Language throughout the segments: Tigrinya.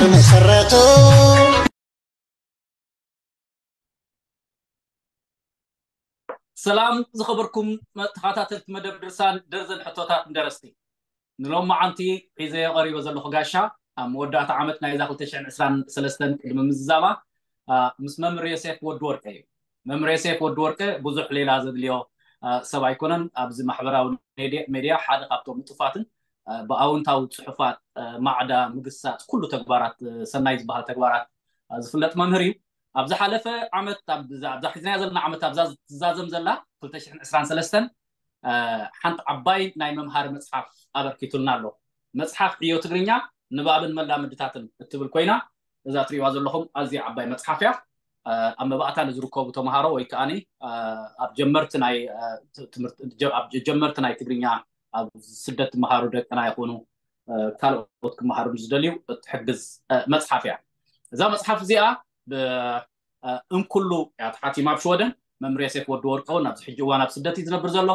መሰረቱ ሰላም ዝኸበርኩም ተኸታተልቲ መደብ ድርሳን ደርዘን ሕቶታት ንደረስቲ። ንሎማዓንቲ ሒዘዮ ቀሪበ ዘለኹ ጋሻ ኣብ መወዳእታ ዓመት ናይዛ ክልተ ሽሕን ዕስራን ሰለስተን ቅድሚ ምዝዛማ ምስ መምህር ዮሴፍ ወዲ ወርቀ እዩ። መምህር ዮሴፍ ወዲ ወርቀ ብዙሕ ሌላ ዘድልዮ ሰብ ኣይኮነን። ኣብዚ ማሕበራዊ ሜድያ ሓደ ካብቶም ንጡፋትን ብኣውንታዊ ፅሑፋት ማዕዳ ምግሳፅ ኩሉ ተግባራት ሰናይ ዝበሃል ተግባራት ዝፍለጥ መምህር እዩ። ኣብ ዝሓለፈ ዓመት ኣብዛ ሒዝናያ ዘለና ዓመት ኣብዛ ትዛዘም ዘላ ክልተ ሽሕን ዕስራን ሰለስተን ሓንቲ ዓባይ ናይ መምሃሪ መፅሓፍ ኣበርኪቱልና ኣሎ። መፅሓፍ ዕዮ ትግርኛ ንባብን መላምድታትን እትብል ኮይና እዛ ትሪእዋ ዘለኹም ኣዝያ ዓባይ መፅሓፍ እያ። ኣብ መባእታ ንዝርከቡ ተምሃሮ ወይ ከዓኒ ኣብ ጀመርቲ ናይ ትምህርቲ ኣብ ጀመርቲ ናይ ትግርኛ ኣብ ስደት ትምሃሩ ደቅና ይኹኑ ካልኦት ክመሃሩ ዝደልዩ እትሕግዝ መፅሓፍ እያ። እዛ መፅሓፍ እዚኣ ብእንኩሉ እያ ተሓቲማ ኣብ ሽወደን። መምህር ዮሴፍ ወዲ ወርቀ እውን ኣብዚ ሕጂ እዋን ኣብ ስደት እዩ ዝነብር ዘሎ።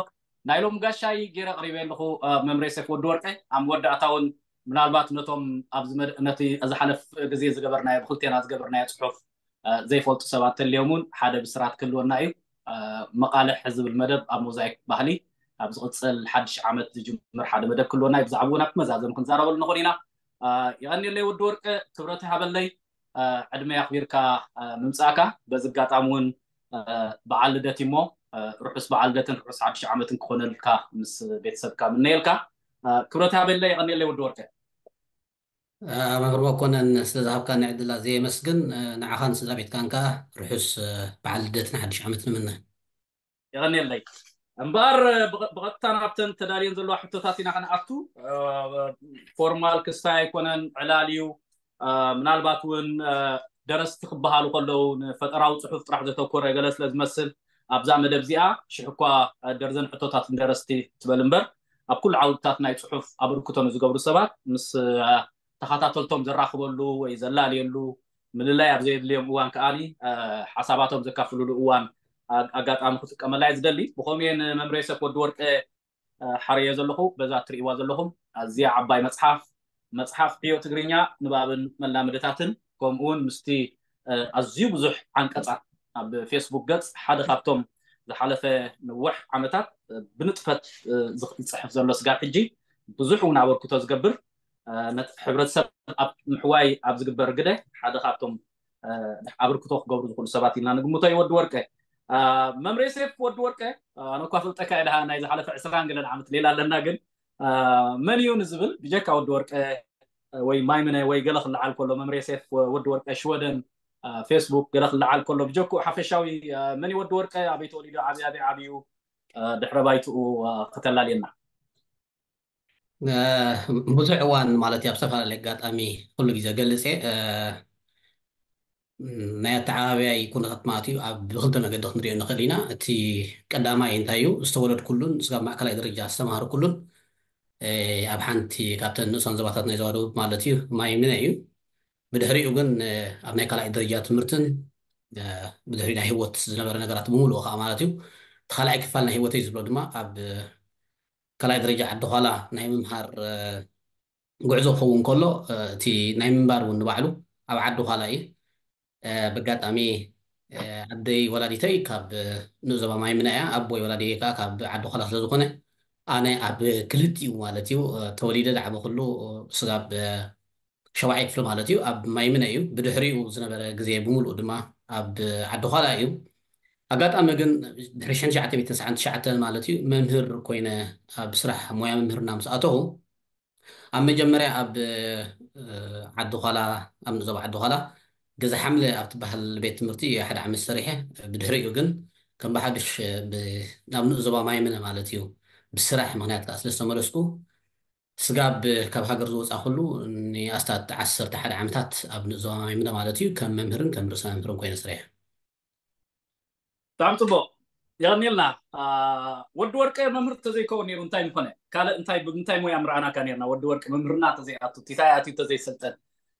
ናይ ሎም ጋሻይ ገይረ ኣቕሪበ ኣለኹ። መምህር ዮሴፍ ወዲ ወርቀ ኣብ መወዳእታ እውን ምናልባት ነቶም ኣብዚ መድ- ነቲ ዝሓለፍ ግዜ ዝገበርናዮ ብክልቴና ዝገበርናዮ ፅሑፍ ዘይፈልጡ ሰባት ተልዮም እውን ሓደ ብስራት ክህልወና እዩ። መቓልሕ ዝብል መደብ ኣብ ሞዛይክ ባህሊ ኣብ ዝቕፅል ሓድሽ ዓመት ዝጅምር ሓደ መደብ ክህልወና እዩ። ብዛዕባኡ ናብ መዛዘም ክንዛረበሉ ንኽእል ኢና። የቐንየለይ ወዲ ወርቀ፣ ክብረት ይሃበለይ ዕድመ ኣኽቢርካ ምምፃእካ። በዚ ኣጋጣሚ እውን በዓል ልደት እሞ ርሑስ በዓል ልደትን ርሑስ ሓድሽ ዓመትን ክኾነልካ ምስ ቤተሰብካ ምነየልካ። ክብረት ይሃበለይ። የቐንየለይ ወዲ ወርቀ። መምህር መኮነን፣ ስለ ዝሃብካኒ ዕድል ኣዝየ የመስግን። ንዓኻን ስድራ ቤትካን ከኣ ርሑስ በዓል ልደትን ሓድሽ ዓመት ንምነ። የቐንየለይ። እምበኣር ብቐጥታ ናብተን ተዳልየን ዘለዋ ሕቶታት ኢና ክንኣቱ። ፎርማል ክስታይ ኣይኮነን፣ ዕላል እዩ። ምናልባት እውን ደረስቲ ክበሃሉ ከለዉ ንፈጠራዊ ፅሑፍ ጥራሕ ዘተኮረ ገለ ስለ ዝመስል ኣብዛ መደብ እዚኣ ሽሕ እኳ ደርዘን ሕቶታት ንደረስቲ ትበል እምበር ኣብ ኩሉ ዓውድታት ናይ ፅሑፍ ኣበርክቶ ንዝገብሩ ሰባት ምስ ተኸታተልቶም ዘራኽበሉ ወይ ዘላልየሉ ምልላይ ኣብ ዘየድልዮም እዋን ከዓኒ ሓሳባቶም ዘካፍልሉ እዋን ኣጋጣሚ ክጥቀመላ እየ ዝደሊ። ብኸምኡ እየ ንመምህር ዮሴፍ ወዲ ወርቀ ሓረዮ ዘለኹ። በዛ እትርእይዋ ዘለኹም ኣዝያ ዓባይ መፅሓፍ፣ መፅሓፍ ዕዮ ትግርኛ ንባብን መላምድታትን ከምኡ እውን ምስቲ ኣዝዩ ብዙሕ ዓንቀፃት ኣብ ፌስቡክ ገፅ ሓደ ካብቶም ዝሓለፈ ነዊሕ ዓመታት ብንጥፈት ዝፅሕፍ ዘሎ ስጋብ ሕጂ ብዙሕ እውን ኣበርክቶ ዝገብር ነቲ ሕብረተሰብ ኣብ ምሕዋይ ኣብ ዝግበር ግደ ሓደ ካብቶም ኣበርክቶ ክገብሩ ዝኽእሉ ሰባት ኢልና ንግምቶ እዩ። ወዲ ወርቀ፣ መምህር ዮሴፍ ወዲ ወርቀ፣ ኣነ እኳ ፍልጠካ እየ ድሓ ናይ ዝሓለፈ ዕስራን ገለን ዓመት ሌላ ኣለና፣ ግን መን እዩ ንዝብል ብጀካ ወዲ ወርቀ ወይ ማይምነ ወይ ገለ ክለዓል ከሎ፣ መምህር ዮሴፍ ወዲ ወርቀ ሽወደን ፌስቡክ ገለ ክለዓል ከሎ ብጀክኡ ሓፈሻዊ መን እዩ ወዲ ወርቀ፣ ኣበይ ተወሊዱ፣ ዓብዩ ኣበይ ዓብዩ፣ ድሕረ ባይትኡ ከተላልየና። ብዙሕ እዋን ማለት እዩ ኣብ ዝተፈላለየ ኣጋጣሚ ኩሉ ግዜ ገልፅ እየ። ናይ ኣተዓባብያይ ኩነታት ማለት እዩ ኣብ ብክልተ መገዲ ክንሪኦ ንኽእል ኢና። እቲ ቀዳማይ እንታይ እዩ፣ ዝተወለድኩሉን ስጋብ ማእከላይ ደረጃ ዝተምሃርኩሉን ኣብ ሓንቲ ካብተን ንእሰን ዞባታት ናይ ዞባ ደቡብ ማለት እዩ ማይምነ እዩ። ብድሕሪኡ ግን ኣብ ናይ ካልኣይ ደረጃ ትምህርትን ብድሕሪኡ ናይ ህይወት ዝነበረ ነገራት ብምሉኡ ከዓ ማለት እዩ እቲ ካልኣይ ክፋል ናይ ህይወተይ ዝብሎ ድማ ኣብ ካልኣይ ደረጃ ዓዲ ዃላ ናይ ምምሃር ጉዕዞ ክኸውን ከሎ እቲ ናይ ምንባር እውን ንባዕሉ ኣብ ዓዲ ዃላ እዩ። ብኣጋጣሚ ኣደይ ወላዲተይ ካብ ንኡስ ዞባ ማይምነ እያ። ኣቦይ ወላዲተይ ከዓ ካብ ዓዲ ዃላ ስለ ዝኾነ ኣነ ኣብ ክልቲኡ ማለት እዩ ተወሊደ ዝዓበኹሉ ስጋብ ሸውዓይ ክፍሊ ማለት እዩ ኣብ ማይምነ እዩ። ብድሕሪኡ ዝነበረ ግዜ ብምሉኡ ድማ ኣብ ዓዲ ዃላ እዩ። ኣጋጣሚ ግን ድሕሪ ሽሕን ትሽዓተ ሚእትን ተስዓን ትሽዓተን ማለት እዩ መምህር ኮይነ ኣብ ስራሕ ሞያ መምህርና ምስ ኣተኹ ኣብ መጀመርያ ኣብ ዓዲ ዃላ ኣብ ንዞባ ዓዲ ዃላ ገዛ ሓምለ ኣብ ትበሃል ቤት ትምህርቲ ሓደ ዓመት ሰሪሐ። ብድሕሪኡ ግን ከም ብሓዱሽ ናብ ንኡስ ዞባ ማይምነ ማለት እዩ ብስራሕ ምክንያት ከዓ ስለ ዝተመለስኩ ስጋብ ካብ ሃገር ዝወፃእኩሉ ንኣስታት ዓሰርተ ሓደ ዓመታት ኣብ ንኡስ ዞባ ማይምነ ማለት እዩ ከም መምህርን ከም ርእሰ መምህርን ኮይነ ሰሪሐ። ብጣዕሚ ፅቡቕ፣ የቐንየልና። ወዲ ወርቀ መምህር ተዘይከውን ነይሩ እንታይ ምኾነ? ካልእ እንታይ ብምንታይ ሞያ ምረኣናካ ነርና? ወዲ ወርቀ መምህርና ተዘይኣቱ ቲታይ ኣትዩ ተዘይሰልጠን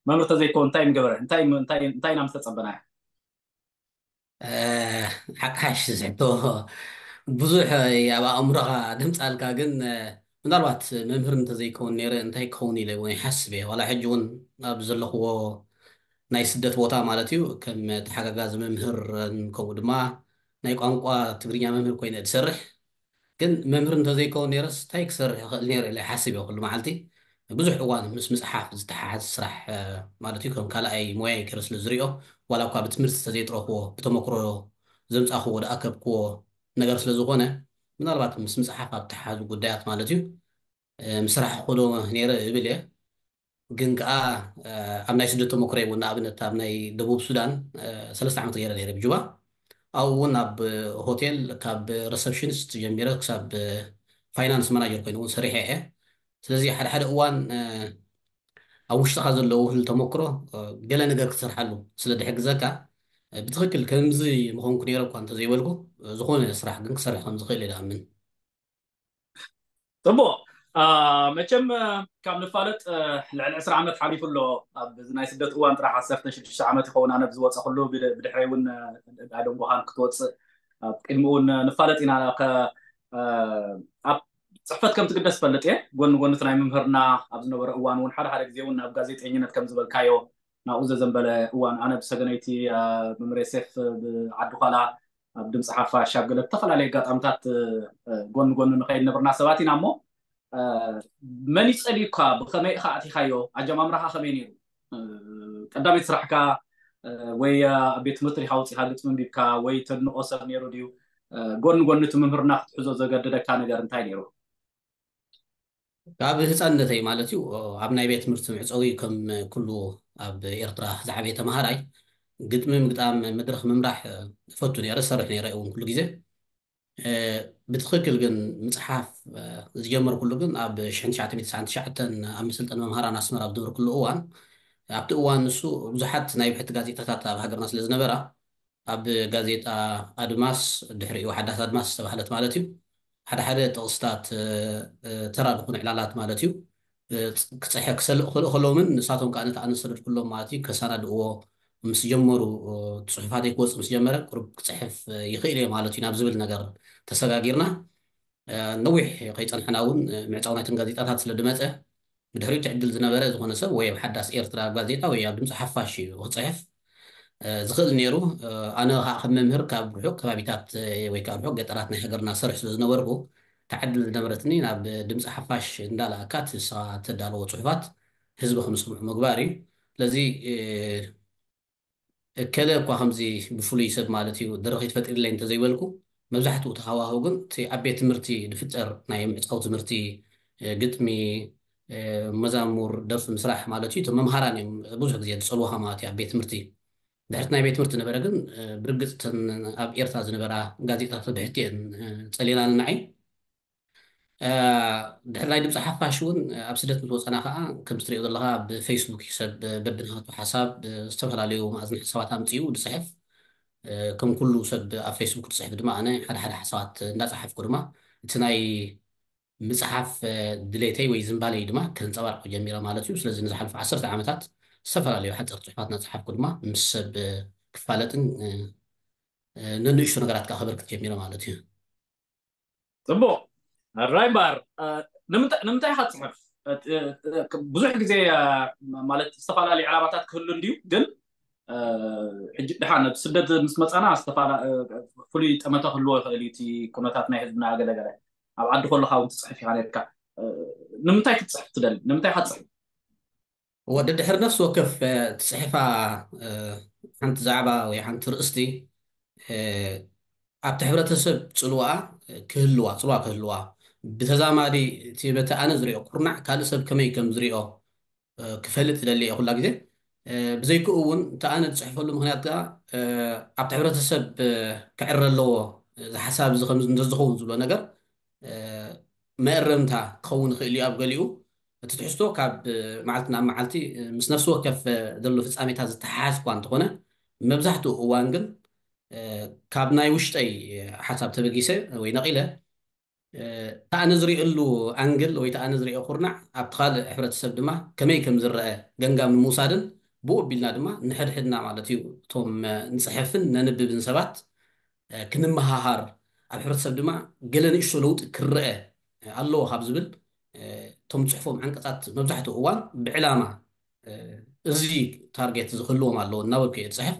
መምህር ተዘይከውን እንታይ ምገበረ? እንታይ እንታይ እንታይ ኢና ምስተፀበናዮ? ሓቅሓሽ ዝሕቶ ብዙሕ ኣብ ኣእምሮኻ ድምፃልካ ግን ምናልባት መምህር እንተዘይከውን ነይረ እንታይ ክኸውን ኢለ እውን ይሓስብ እየ። ዋላ ሕጂ እውን ኣብ ዘለኽዎ ናይ ስደት ቦታ ማለት እዩ፣ ከም ተሓጋጋዚ መምህር ከምኡ ድማ ናይ ቋንቋ ትግርኛ መምህር ኮይነ ዝሰርሕ። ግን መምህር እንተዘይከውን ነይረስ እንታይ ክሰርሕ ይኽእል ነይረ ኢለ ይሓስብ እየ ኩሉ መዓልቲ። ብዙሕ እዋን ምስ ምፅሓፍ ዝተሓሓዝ ስራሕ ማለት እዩ፣ ከም ካልኣይ ሞያይ ገይረ ስለ ዝሪኦ፣ ዋላ እኳ ብትምህርቲ እንተዘይጥረኽዎ ብተመክሮ ዘምፃኽዎ ዝኣከብክዎ ነገር ስለ ዝኾነ፣ ምናልባት ምስ ምፅሓፍ ኣብ ተሓሓዙ ጉዳያት ማለት እዩ ምስራሕ ክኽእሎ ነይረ እብል እየ። ግን ከዓ ኣብ ናይ ስደት ተመክሮይ እውን ንኣብነት ኣብ ናይ ደቡብ ሱዳን ሰለስተ ዓመት ገይረ ነይረ ብጁባ። ኣብኡ እውን ኣብ ሆቴል ካብ ሪሰፕሽኒስት ጀሚረ ክሳብ ፋይናንስ ማናጀር ኮይኑ እውን ሰሪሐ እየ። ስለዚ ሓደ ሓደ እዋን ኣብ ውሽጥኻ ዘሎ ውህል ተመክሮ ገለ ነገር ክትሰርሓሉ ስለ ዝሕግዘካ፣ ብትኽክል ከምዚ ምኾንኩ ነይረ እኳ እንተዘይበልኩ፣ ዝኾነ ስራሕ ግን ክሰርሕ ከም ዝኽእል እየ ዝኣምን። ፅቡቕ። መቸም ካብ ንፋለጥ ልዕሊ ዕስራ ዓመት ሓሊፉ ኣሎ። ኣብዚ ናይ ስደት እዋን ጥራሕ ዓሰርተ ሽዱሽተ ዓመት ይኸውን ኣነ ዝወፀኹሉ፣ ብድሕረይ እውን ኣደንጎኻን ክትወፅእ ኣብ ቅድሚ እውን ንፋለጥ ኢና። ኣብ ፅሕፈት ከም ትግደስ ፈልጥ እየ። ጎኒ ጎኒ እቲ ናይ ምምህርና ኣብ ዝነበረ እዋን እውን ሓደ ሓደ ግዜ እውን ናብ ጋዜጠኝነት ከም ዝበልካዮ ናብኡ ዘዘንበለ እዋን ኣነ ብሰገነይቲ መምህር ዮሴፍ ብዓዲ ኳላ ኣብ ድምፂ ሓፋሽ ኣብ ገለ ዝተፈላለዩ ኣጋጣምታት ጎኒ ጎኒ ንኸይድ ነበርና ሰባት ኢና እሞ መን ይፀልዩካ? ብኸመይ ኢኻ ኣቲኻዮ? ኣጀማምራኻ ከመይ ነይሩ? ቀዳመይቲ ስራሕካ ወይ ኣብ ቤት ትምህርቲ ዲኻ ወፂኻ ግጥሚ ኣንቢብካ ወይ ተድንቆ ሰብ ነይሩ ድዩ? ጎኒ ጎኒ እቲ ምምህርና ክትሕዞ ዘገደደካ ነገር እንታይ ነይሩ? ካብ ህፃንነተይ ማለት እዩ ኣብ ናይ ቤት ትምህርቲ መዕፀዊ ከም ኩሉ ኣብ ኤርትራ ዝዓበየ ተምሃራይ ግጥሚ ምግጣም፣ መድረኽ ምምራሕ እፈቱ ነይረ፣ ዝሰርሕ ነይረ እውን ኩሉ ግዜ። ብትኽክል ግን ምፅሓፍ ዝጀመርኩሉ ግን ኣብ ሽሕን ትሽዓተ ሚእትን ትስዓን ትሽዓተን ኣብ መሰልጠኒ መምሃራን ኣስመራ ኣብ ዝነበርኩሉ እዋን፣ ኣብቲ እዋን ንሱ ብዙሓት ናይ ብሕቲ ጋዜጣታት ኣብ ሃገርና ስለ ዝነበራ ኣብ ጋዜጣ ኣድማስ፣ ድሕሪኡ ሓዳስ ኣድማስ ዝተባህለት ማለት እዩ፣ ሓደ ሓደ ጥቕስታት ተራ ዝኾኑ ዕላላት ማለት እዩ ክፅሕፍ ክሰልእ ክኽእል ከለውምን ንሳቶም ከዓ ነቲ ኣነ ዝሰደድኩሎም ማለት እዩ ከሰናድእዎ ምስ ጀመሩ፣ ጽሑፋተይ ክወፅእ ምስ ጀመረ ቁሩብ ክፅሕፍ ይኽእል እየ ማለት እዩ ናብ ዝብል ነገር ተሰጋጊርና። ነዊሕ ከይፀንሐና እውን ምዕፃው ናይተን ጋዜጣታት ስለ ዝመፀ፣ ብድሕሪኡ እቲ ዕድል ዝነበረ ዝኾነ ሰብ ወይ ኣብ ሓዳስ ኤርትራ ጋዜጣ ወይ ኣብ ድምፂ ሓፋሽ እዩ ክፅሕፍ ዝኽእል ነይሩ። ኣነ ከዓ ከም መምህር ካብ ርሑቕ ከባቢታት ወይ ከዓ ርሑቕ ገጠራት ናይ ሃገርና ሰርሕ ስለ ዝነበርኩ፣ እታ ዕድል ዝነበረትኒ ናብ ድምፂ ሓፋሽ እንዳለኣካ እቲ ንስኻ እተዳለዎ ፅሑፋት ህዝቢ ከም ዝሰምዑ ምግባር እዩ። ስለዚ እከለ እኳ ከምዚ ብፍሉይ ሰብ ማለት እዩ ደረኺት ፈጢርለይ እንተዘይበልኩ፣ መብዛሕትኡ እቲ ሃዋህው ግን እቲ ኣብ ቤት ትምህርቲ ዝፍጠር ናይ ምዕፃው ትምህርቲ፣ ግጥሚ፣ መዛሙር፣ ደርፊ ምስራሕ ማለት እዩ። እቶም መምሃራን እዮም ብዙሕ ግዜ ዝፀልውኻ ማለት እዩ ኣብ ቤት ትምህርቲ። ድሕርቲ ናይ ቤት ትምህርቲ ነበረ ግን ብርግፅ እተን ኣብ ኤርትራ ዝነበራ ጋዜጣታት ብሕቲ እየን ፀሊናኒ ንዓይ። ድሕሪ ናይ ድምፂ ሓፋሽ እውን ኣብ ስደት ምስ ወፀና ከዓ ከም ትሪኦ ዘለካ ብፌስቡክ እዩ ሰብ በብናቱ ሓሳብ ዝተፈላለዩ መኣዝን ሓሳባት ኣምፅኡ ዝፅሕፍ። ከም ኩሉ ሰብ ኣብ ፌስቡክ ዝፅሕፍ ድማ ኣነ ሓደ ሓደ ሓሳባት እንዳፀሓፍኩ ድማ እቲ ናይ ምፅሓፍ ድሌተይ ወይ ዝንባለይ ድማ ከንፀባርቆ ጀሚረ ማለት እዩ። ስለዚ ንዝሓለፉ ዓሰርተ ዓመታት ዝተፈላለዩ ሓፀርቲ ፅሑፋት እናፀሓፍኩ ድማ ምስ ሰብ ክፋለጥን ነንእሽቶ ነገራት ከዓ ከበርክት ጀሚረ ማለት እዩ። ፅቡቕ። ሕራይ እምበኣር ንምንታይ ኢኻ ትፅሕፍ? ብዙሕ ግዜ ማለት ዝተፈላለዩ ዕላማታት ክህሉ እንድዩ፣ ግን ሕጂ ድሓን ኣብ ስደት ምስ መፃና ፍሉይ ጠመተ ክህልዎ ይኽእል እዩ እቲ ኩነታት ናይ ህዝብና ገለገለ። ኣብ ዓዲ ከለኻ እውን ትፅሕፍ ኢኻ ነርካ። ንምንታይ ክትፅሕፍ ትደሊ? ንምንታይ ኢኻ ትፅሕፍ? ወዲ ድሕሪ ነፍሲ ወከፍ ትፅሕፋ ሓንቲ ዛዕባ ወይ ሓንቲ ርእስቲ ኣብቲ ሕብረተሰብ ፅልዋ ክህልዋ፣ ፅልዋ ክህልዋ፣ ብተዛማዲ እቲ በቲ ኣነ ዝሪኦ ኩርናዕ ካልእ ሰብ ከመይ ከም ዝሪኦ ክፈልጥ ይደሊ እየ ኩላ ግዜ። ብዘይክኡ እውን እቲ ኣነ ዝፅሕፈሉ ምክንያት ከዓ ኣብቲ ሕብረተሰብ ክዕረ ኣለዎ፣ እዚ ሓሳብ እዚ ከምዚ እንተዝኸውን ዝብሎ ነገር መእረምታ ክኸውን ይኽእል እዩ ኣብ ገሊኡ። እቲ ትሕዝቶ ካብ መዓልቲ ናብ መዓልቲ ምስ ነፍሲ ወከፍ ዘሎ ፍፃሜታት ዝተሓሓዝ እኳ እንተኾነ፣ መብዛሕትኡ እዋን ግን ካብ ናይ ውሽጠይ ሓሳብ ተበጊሰ ወይ ነቒለ፣ እቲ ኣነ ዝሪእሉ ኣንግል ወይ እቲ ኣነ ዝሪኦ ኩርናዕ ኣብቲ ካልእ ሕብረተሰብ ድማ ከመይ ከም ዝረአ ገምጋም ንምውሳድን ብኡ ኣቢልና ድማ ንሕድሕድና ማለት እዩ እቶም ንፅሕፍን ነንብብን ሰባት ክንመሃሃር፣ ኣብ ሕብረተሰብ ድማ ገለ ንእሽቶ ለውጢ ክረአ ኣለዎ ካብ ዝብል እቶም ጽሑፎም ዓንቀጻት መብዛሕትኡ እዋን ብዕላማ እዚ ታርጌት ዝህልዎም ኣለዎ እናበልኩ እየ ዝጽሕፍ።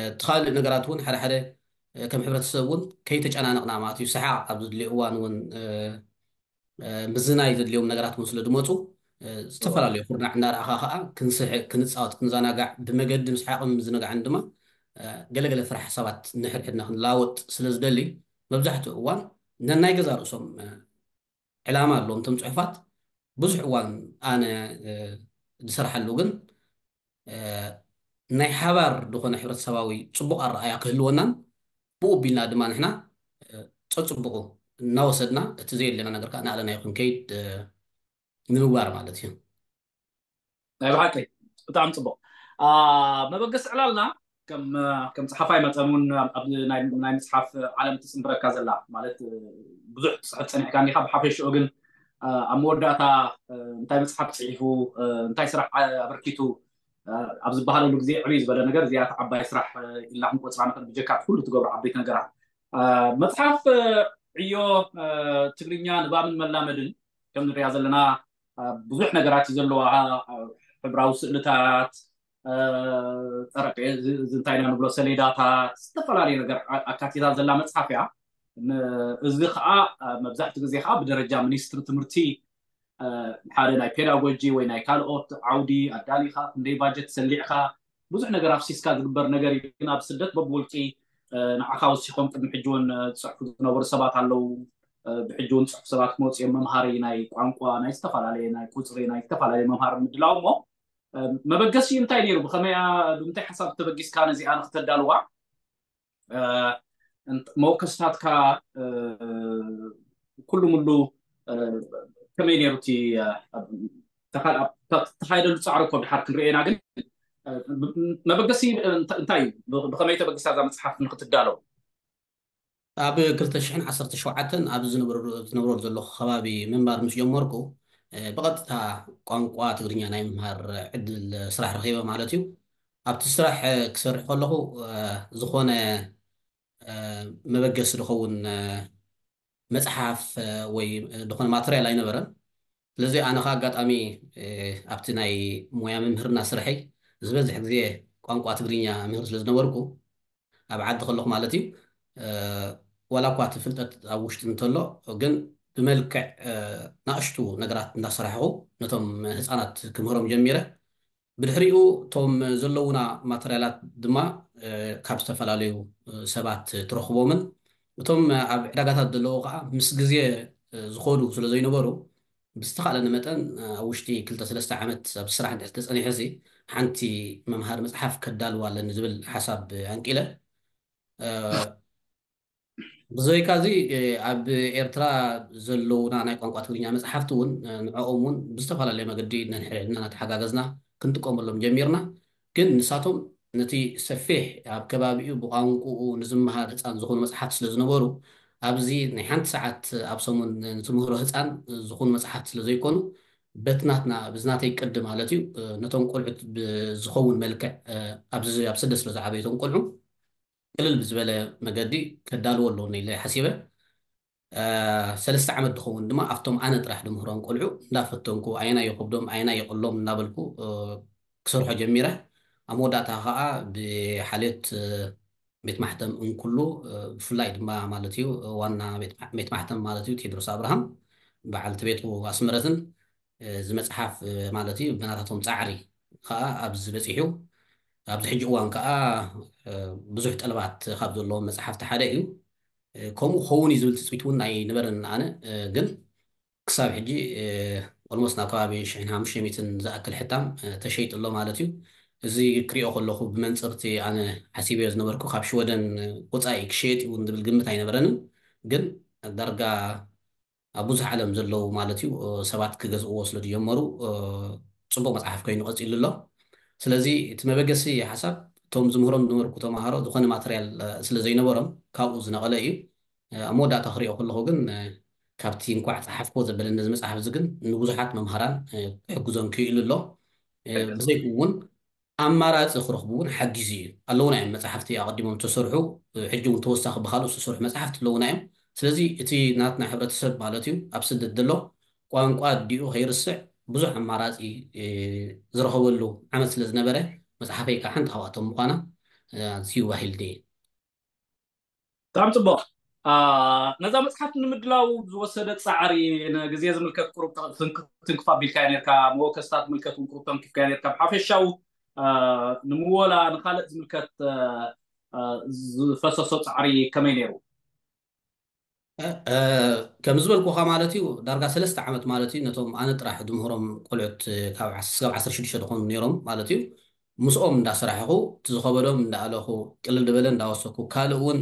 እቲ ካልእ ነገራት እውን ሓደ ሓደ ከም ሕብረተሰብ እውን ከይተጨናነቕና ማለት እዩ፣ ሰሓቕ ኣብ ዘድልዮ እዋን እውን ምዝናይ ዘድልዮም ነገራት እውን ስለ ዝመፁ ዝተፈላለዩ ኩርናዕ እናረኣኻ ከዓ ክንስሕቅ፣ ክንፃወት፣ ክንዘናጋዕ፣ ብመገዲ ምስሓቅን ምዝንጋዕን ድማ ገለገለ ፍረ ሓሳባት ንሕድሕድና ክንለዋወጥ ስለ ዝደሊ መብዛሕትኡ እዋን ነናይ ገዛ ርእሶም ዕላማ ኣለዎም እቶም ፅሑፋት። ብዙሕ እዋን ኣነ ዝሰርሓሉ ግን ናይ ሓባር ዝኾነ ሕብረተሰባዊ ፅቡቕ ኣረኣያ ክህልወናን ብኡ ቢልና ድማ ንሕና ፀፅቡቑ እናወሰድና እቲ ዘየድለና ነገር ከዓ እናኣለናዮ ክንከይድ ንምግባር ማለት እዩ። ናይ ብሓቂ ብጣዕሚ ፅቡቕ። መበገሲ ዕላልና ከም ከም ፀሓፋይ መጠን እውን ኣብ ናይ መፅሓፍ ዓለም ትፅንብረካ ዘላ ማለት ብዙሕ ትፅሕፍ ፀኒሕካ እንዲካ። ብሓፈሽኡ ግን ኣብ መወዳእታ እንታይ መፅሓፍ ፅሒፉ እንታይ ስራሕ ኣበርኪቱ ኣብ ዝበሃለሉ ግዜ ዕብይ ዝበለ ነገር እዚኣ ዓባይ ስራሕ ኢልና ክንቆፅራ ንኽእል፣ ብጀካ ኩሉ ትገብሮ ዓበይቲ ነገራት። መፅሓፍ ዕዮ ትግርኛ ንባብን መላመድን ከም ንሪኣ ዘለና ብዙሕ ነገራት እዩ ዘለዋ። ሕብራዊ ስእልታት፣ ጠረጴ እንታይ ኢና ንብሎ፣ ሰሌዳታት፣ ዝተፈላለዩ ነገር ኣካቲታ ዘላ መፅሓፍ እያ። እዚ ከዓ መብዛሕትኡ ግዜ ከዓ ብደረጃ ሚኒስትሪ ትምህርቲ ሓደ ናይ ፔዳጎጂ ወይ ናይ ካልኦት ዓውዲ ኣዳሊኻ ክንደይ ባጀት ሰሊዕካ ብዙሕ ነገር ኣፍሲስካ ዝግበር ነገር እዩ። ግን ኣብ ስደት በብውልቂ ንዓኻ ወሲኾም ቅድሚ ሕጂ እውን ዝፅሕፉ ዝነበሩ ሰባት ኣለዉ። ብሕጂ እውን ፅሑፍ ሰባት ክመፁ እዮም። መምሃሪ ናይ ቋንቋ፣ ናይ ዝተፈላለየ ናይ ቁፅሪ፣ ናይ ዝተፈላለየ መምሃሪ ምድላው እሞ መበገሲ እንታይ ነይሩ? ብከመይ ብምንታይ ሓሳብ ተበጊስካ ነዚኣ ንክተዳልዋ? መወከስታትካ ኩሉ ምሉ ከመይ ነይሩ እቲ ተኻየደሉ ፃዕሪ እኮ ድሓር ክንርኤና ግን መበገሲ እንታይ እዩ? ብከመይ ተበጊሳ እዛ መፅሓፍ ንክትዳለው? ኣብ ክልተ ሽሕን ዓሰርተ ሸውዓተን ኣብ ዝነብረሉ ዘለኹ ከባቢ ምንባር ምስ ጀመርኩ ብቐጥታ ቋንቋ ትግርኛ ናይ ምምሃር ዕድል ስራሕ ረኺበ ማለት እዩ። ኣብቲ ስራሕ ክሰርሕ ከለኹ ዝኾነ መበገሲ ዝኸውን መፅሓፍ ወይ ዝኾነ ማተርያል ኣይነበረን። ስለዚ ኣነ ከዓ ኣጋጣሚ ኣብቲ ናይ ሞያ ምምህርና ስርሐይ ዝበዝሕ ግዜ ቋንቋ ትግርኛ ምህር ስለ ዝነበርኩ ኣብ ዓዲ ከለኹ ማለት እዩ ዋላ እኳ እቲ ፍልጠት ኣብ ውሽጢ እንተሎ ግን ብመልክዕ ናእሽቱ ነገራት እንዳሰራሕኹ ነቶም ህፃናት ክምህሮም ጀሚረ። ብድሕሪኡ እቶም ዘለዉና ማተርያላት ድማ ካብ ዝተፈላለዩ ሰባት ትረኽቦምን እቶም ኣብ ዕዳጋታት ዘለዉ ከዓ ምስ ግዜ ዝኾዱ ስለ ዘይነበሩ ብዝተኻእለኒ መጠን ኣብ ውሽጢ ክልተ ሰለስተ ዓመት ኣብ ስራሕ እንድሕር ተፀኒሐ ሲ ሓንቲ መምሃሪ መፅሓፍ ከዳልዋ ኣለኒ ዝብል ሓሳብ ኣንቂለ። ብዘይካ እዚ ኣብ ኤርትራ ዘለውና ናይ ቋንቋ ትግርኛ መፅሓፍቲ እውን ንዕኦም እውን ብዝተፈላለየ መገዲ ነንሕድሕድና እናተሓጋገዝና ክንጥቀመሎም ጀሚርና። ግን ንሳቶም ነቲ ሰፊሕ ኣብ ከባቢኡ ብቋንቋኡ ንዝመሃር ህፃን ዝኾኑ መፅሓፍቲ ስለ ዝነበሩ ኣብዚ ናይ ሓንቲ ሰዓት ኣብ ሰሙን ንትምህሮ ህፃን ዝኾኑ መፅሓፍቲ ስለ ዘይኮኑ በቲ ናትና ብዝናተይ ቅዲ ማለት እዩ ነቶም ቆልዑት ብዝኸውን መልክዕ ኣብዚ ኣብ ስደት ስለ ዝዓበዩ እቶም ቆልዑ ቅልል ብዝበለ መገዲ ከዳልዎ ኣለዎ ኢለ ሓሲበ። ሰለስተ ዓመት ዝኸውን ድማ ኣብቶም ኣነ ጥራሕ ድምህሮም ቆልዑ እንዳፈተንኩ ኣየናይ የኸብዶም ኣየናይ የቕሎም እናበልኩ ክሰርሖ ጀሚረ። ኣብ መወዳእታ ከዓ ብሓልዮት ቤት ማሕተም እንኩሉ ብፍላይ ድማ ማለት እዩ ዋና ቤት ማሕተም ማለት እዩ ቴድሮስ ኣብርሃም በዓልቲ ቤቱ ኣስመረትን እዚ መፅሓፍ ማለት እዩ ብናታቶም ፃዕሪ ከዓ ኣብዚ በፂሑ። ኣብዚ ሕጂ እዋን ከዓ ብዙሕ ጠለባት ካብ ዘለዎም መፅሓፍቲ ሓደ እዩ። ከምኡ ክኸውን እዩ ዝብል ትፅቢት እውን ኣይነበረን ኣነ። ግን ክሳብ ሕጂ ኦልሞስት ናብ ከባቢ ሽሕን ሓሙሽተ ሚእትን ዝኣክል ሕታም ተሸይጡ ኣሎ ማለት እዩ። እዚ ክሪኦ ከለኹ ብመንፅርቲ ኣነ ሓሲበዮ ዝነበርኩ ካብ ሽወደን ወፃኢ ክሸየጥ እውን ዝብል ግምት ኣይነበረንን። ግን ዳርጋ ኣብ ብዙሕ ዓለም ዘለዉ ማለት እዩ ሰባት ክገዝእዎ ስለ ዝጀመሩ ፅቡቕ መፅሓፍ ኮይኑ ቀፂሉ ኣሎ። ስለዚ እቲ መበገሲ ሓሳብ እቶም ዝምህሮም ዝነበርኩ ተምሃሮ ዝኾነ ማተርያል ስለ ዘይነበሮም ካብኡ ዝነቐለ እዩ። ኣብ መወዳእታ ክሪኦ ከለኹ ግን ካብቲ እንኳዕ ፀሓፍክዎ ዘበለኒ እዚ መፅሓፍ እዚ ግን ንብዙሓት መምሃራን ክሕግዞም ክኢሉ ኣሎ። ብዘይኡ እውን ኣማራፂ ክረኽቡ እውን ሓጊዙ እዩ። ኣለውና እዮም መፅሓፍቲ ኣቐዲሞም ዝተሰርሑ ሕጂ እውን ተወሳኺ ብካልኦት ዝተሰርሑ መፅሓፍቲ ኣለውና እዮም። ስለዚ እቲ ናትና ሕብረተሰብ ማለት እዩ ኣብ ስደት ዘሎ ቋንቋ ኣዲኡ ከይርስዕ ብዙሕ ኣማራፂ ዝረኸበሉ ዓመት ስለ ዝነበረ፣ መፅሓፈይ ከዓ ሓንቲ ካብኣቶም ምዃና ኣዝዩ ባሂል ድየ። ብጣዕሚ ፅቡቕ። ነዛ መፅሓፍ ንምድላው ዝወሰደ ፃዕሪ፣ ንግዜ ዝምልከት ቁሩብ ትንክፍ ኣቢልካዮ ነርካ፣ መወከስታት ዝምልከት እውን ቁሩብ ተንኪፍካዮ ነርካ። ብሓፈሻዊ ንምወላ ንካልእ ዝምልከት ዝፈሰሶ ፃዕሪ ከመይ ነይሩ? ከም ዝበልኩኻ ማለት እዩ፣ ዳርጋ ሰለስተ ዓመት ማለት እዩ፣ ነቶም ኣነ ጥራሕ ድምህሮም ቆልዑት ካብ ዓሰርተ ሽዱሽተ ዝኾኑ ነይሮም ማለት እዩ። ምስኦም እንዳሰራሕኹ፣ እቲ ዝኸበዶም እንዳኣለኹ፣ ቅልል ዝበለ እንዳወሰኩ፣ ካልእ እውን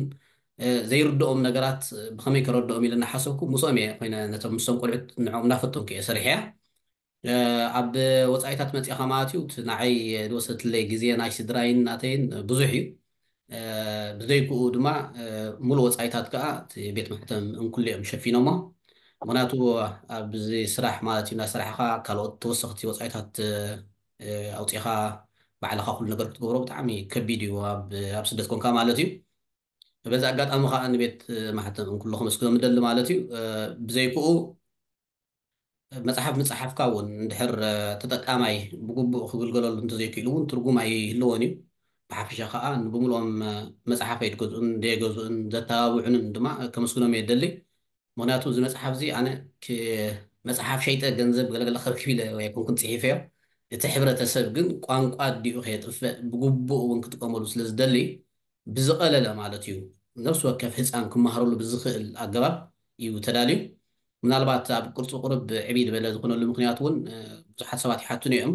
ዘይርድኦም ነገራት ብኸመይ ከረድኦም ኢለ እናሓሰብኩ ምስኦም እየ ኮይነ፣ ነቶም ምስቶም ቆልዑት ንዕኦም እንዳፈተንኩ እየ ሰሪሐያ። ኣብ ወፃኢታት መፂኻ ማለት እዩ፣ እቲ ንዓይ ዝወሰድለይ ግዜ ናይ ስድራይን ናተይን ብዙሕ እዩ። ብዘይክኡ ድማ ሙሉእ ወፃኢታት ከዓ እቲ ቤት ማሕተም እንኩሉ እዮም ሸፊኖሞ። ምክንያቱ ኣብዚ ስራሕ ማለት እዩ፣ ናይ ስራሕኻ ካልኦት ተወሰኽቲ ወፃኢታት ኣውፂኻ ባዕልኻ ኩሉ ነገር ክትገብሮ ብጣዕሚ ከቢድ እዩ፣ ኣብ ስደት ኮንካ ማለት እዩ። በዚ ኣጋጣሚ ከዓ ንቤት ማሕተም እንኩሉ ከመስግኖም እደሊ ማለት እዩ። ብዘይክኡ መፅሓፍ ምፅሓፍካ እውን እንድሕር ተጠቃማይ ብግቡእ ክግልገለሉ እንተዘይክኢሉ እውን ትርጉም ኣይህልዎን እዩ። ብሓፈሻ ከዓ ንብምልኦም መፅሓፈይ ዝገዝኡን ዘየገዝኡን ዘተባብዑንን ድማ ከመስግኖም እየ ደሊ። ምክንያቱ እዚ መፅሓፍ እዚ ኣነ መፅሓፍ ሸይጠ ገንዘብ ገለገለ ከርክብ ኢለ ኣይኮንኩን ፅሒፈዮ። እቲ ሕብረተሰብ ግን ቋንቋ ኣዲኡ ከየጥፍእ ብግቡእ እውን ክጥቀመሉ ስለ ዝደሊ ብዝቐለለ ማለት እዩ፣ ነፍሲ ወከፍ ህፃን ክመሃረሉ ብዝኽእል ኣገባብ እዩ ተዳልዩ። ምናልባት ኣብ ቅርፂ ቁርብ ዕብይ ዝበለ ዝኾነሉ ምክንያት እውን ብዙሓት ሰባት ይሓቱኒ እዮም።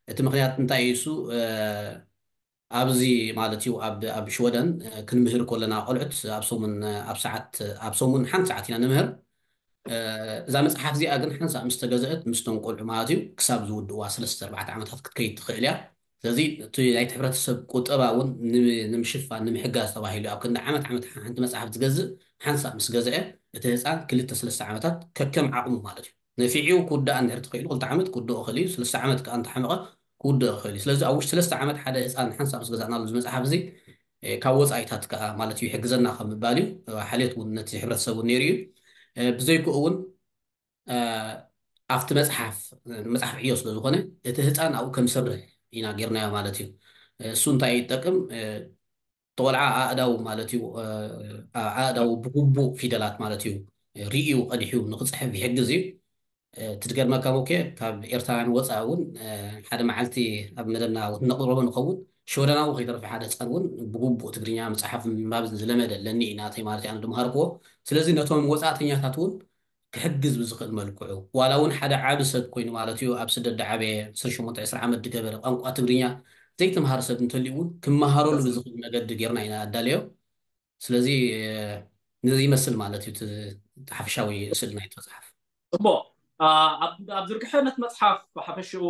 እቲ ምክንያት እንታይ እዩ? እሱ ኣብዚ ማለት እዩ ኣብ ሽወደን ክንምህር ከለና ቆልዑት ኣብ ሰሙን ኣብ ሰዓት ኣብ ሰሙን ሓንቲ ሰዓት ኢና ንምህር። እዛ መፅሓፍ እዚኣ ግን ሓንሳእ ምስ ተገዘአት ምስቶም ቆልዑ ማለት እዩ ክሳብ ዝውድእዋ ሰለስተ ኣርባዕተ ዓመታት ክትከይድ ትኽእል እያ። ስለዚ እቲ ናይቲ ሕብረተሰብ ቁጠባ እውን ንምሽፋን ንምሕጋዝ ተባሂሉ ኣብ ክንዲ ዓመት ዓመት ሓንቲ መፅሓፍ ዝገዝእ ሓንሳእ ምስ ገዝአ እቲ ህፃን ክልተ ሰለስተ ዓመታት ከከም ዓቕሙ ማለት እዩ ነፊዑ ክውዳእ እንድሕር ተኽኢሉ ክልተ ዓመት ክውድኦ ይኽእል እዩ። ሰለስተ ዓመት ከዓ እንተሓመቐ ክውድኦ ይኽእል እዩ። ስለዚ ኣብ ውሽጢ ሰለስተ ዓመት ሓደ ህፃን ሓንሳእ ምስ ገዛእናሉ እዚ መፅሓፍ እዚ ካብ ወፃኢታት ከዓ ማለት እዩ ይሕግዘና ከም ምባል እዩ። ሓልዮት እውን ነቲ ሕብረተሰብ እውን ነይሩ እዩ። ብዘይክኡ እውን ኣብቲ መፅሓፍ መፅሓፍ ዕዮ ስለ ዝኾነ እቲ ህፃን ኣብኡ ከም ዝሰርሕ ኢና ጌርናዮ ማለት እዩ። እሱ እንታይ እዩ ይጠቅም? ተቆልዓ ኣእዳው ማለት እዩ ኣእዳው ብግቡእ ፊደላት ማለት እዩ ርእዩ ቀዲሑ ንክፅሕፍ ይሕግዝ እዩ። ትድገርመካ ሞኬ ካብ ኤርትራውያን ወፃኢ እውን ሓደ መዓልቲ ኣብ መደብና ነቕርቦ ንኸውን ሽወደናዊ ከይተረፈ ሓደ ህፃን እውን ብግቡእ ትግርኛ ምፅሓፍ ምንባብ ዝለመደ ኣለኒ ናተይ ማለት ኣነ ድምሃርክዎ። ስለዚ ነቶም ወፃእተኛታት እውን ክሕግዝ ብዝኽእል መልክዑ ዋላ እውን ሓደ ዓቢ ሰብ ኮይኑ ማለት እዩ ኣብ ስደት ድዓበየ ዕስራን ሸሞንተን ዕስራን ዓመት ድገበረ ቋንቋ ትግርኛ ዘይተምሃረ ሰብ እንተልዩ እውን ክመሃረሉ ብዝኽእል መገዲ ጌርና ኢና ኣዳልዮ። ስለዚ ነዚ ይመስል ማለት እዩ እቲ ሓፈሻዊ ስእሊ ናይቲ መፅሓፍ። እሞ ኣብ ዝርግሐ ነቲ መፅሓፍ ሓፈሽኡ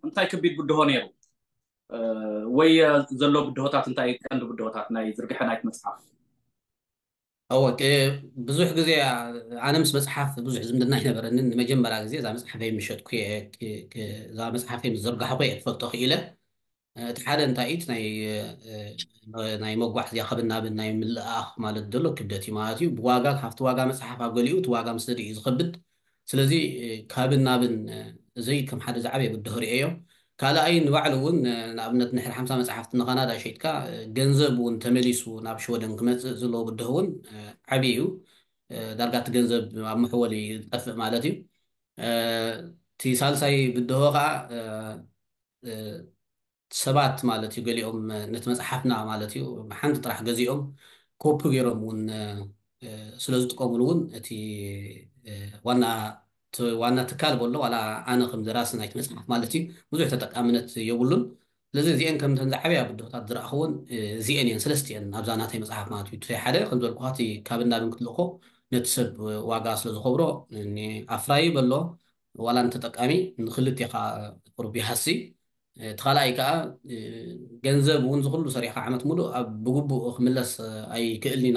እንታይ ከቢድ ብድሆ ነይሩ ወይ ዘሎ ብድሆታት እንታይ ቀንዲ ብድሆታት ናይ ዝርግሐ ናይቲ መፅሓፍ? እወ ብዙሕ ግዜ ኣነ ምስ መፅሓፍ ብዙሕ ዝምድና ኣይነበረንን። ንመጀመርያ ግዜ እዛ መፅሓፈይ ምሸጥኩ እዛ መፅሓፈይ ምስ ዘርጋሕኩ እየ ክፈልጦ ክኢለ። እቲ ሓደ እንታይ እዩ ናይ መጓዓዝያ ከብናብን ናይ ምልኣኽ ማለት ዘሎ ክብደት እዩ ማለት እዩ። ብዋጋ ካብቲ ዋጋ መፅሓፍ ኣብ ገሊኡ እቲ ዋጋ ምስ ንርኢ እዩ ዝኸብድ። ስለዚ ካብናብን እዚ ከም ሓደ ዝዓበየ ብድሆ ርእየዮ። ካልኣይ ንባዕሉ እውን ንኣብነት ንድሕሪ ሓምሳ መፅሓፍቲ ንካናዳ ሸይጥካ ገንዘብ እውን ተመሊሱ ናብ ሽወደን ክመፅእ ዘለዎ ብድሆ እውን ዓብዪ እዩ። ዳርጋ እቲ ገንዘብ ኣብ መሕወሊ ዝጠፍእ ማለት እዩ። እቲ ሳልሳይ ብድሆ ከዓ ሰባት ማለት እዩ ገሊኦም ነቲ መፅሓፍና ማለት እዩ ሓንቲ ጥራሕ ገዚኦም ኮፒ ገይሮም እውን ስለ ዝጥቀምሉ እውን እቲ ዋና ዋና ትካል በሎ ዋላ ኣነ ከም ደራሲ ናይቲ መፅሓፍ ማለት እዩ ብዙሕ ተጠቃምነት የብሉን። ስለዚ እዚአን ከምተን ዝዓበያ ብድሆታት ዝረእኽዎን እዚአን እየን ሰለስቲአን ኣብዛ ናተይ መፅሓፍ ማለት እዩ። እቲ ሓደ ከም ዝበልኩኻ እቲ ካብ እናብን ክትልእኮ ነቲ ሰብ ዋጋ ስለ ዝኸብሮ ኣፍራይ በሎ ዋላ ንተጠቃሚ ንክልቴኻ ቁሩብ ይሃሲ። እቲ ካልኣይ ከዓ ገንዘብ እውን ዝኩሉ ሰሪሕካ ዓመት ሙሉእ ኣብ ብግቡእ ክምለስ ኣይክእልኒ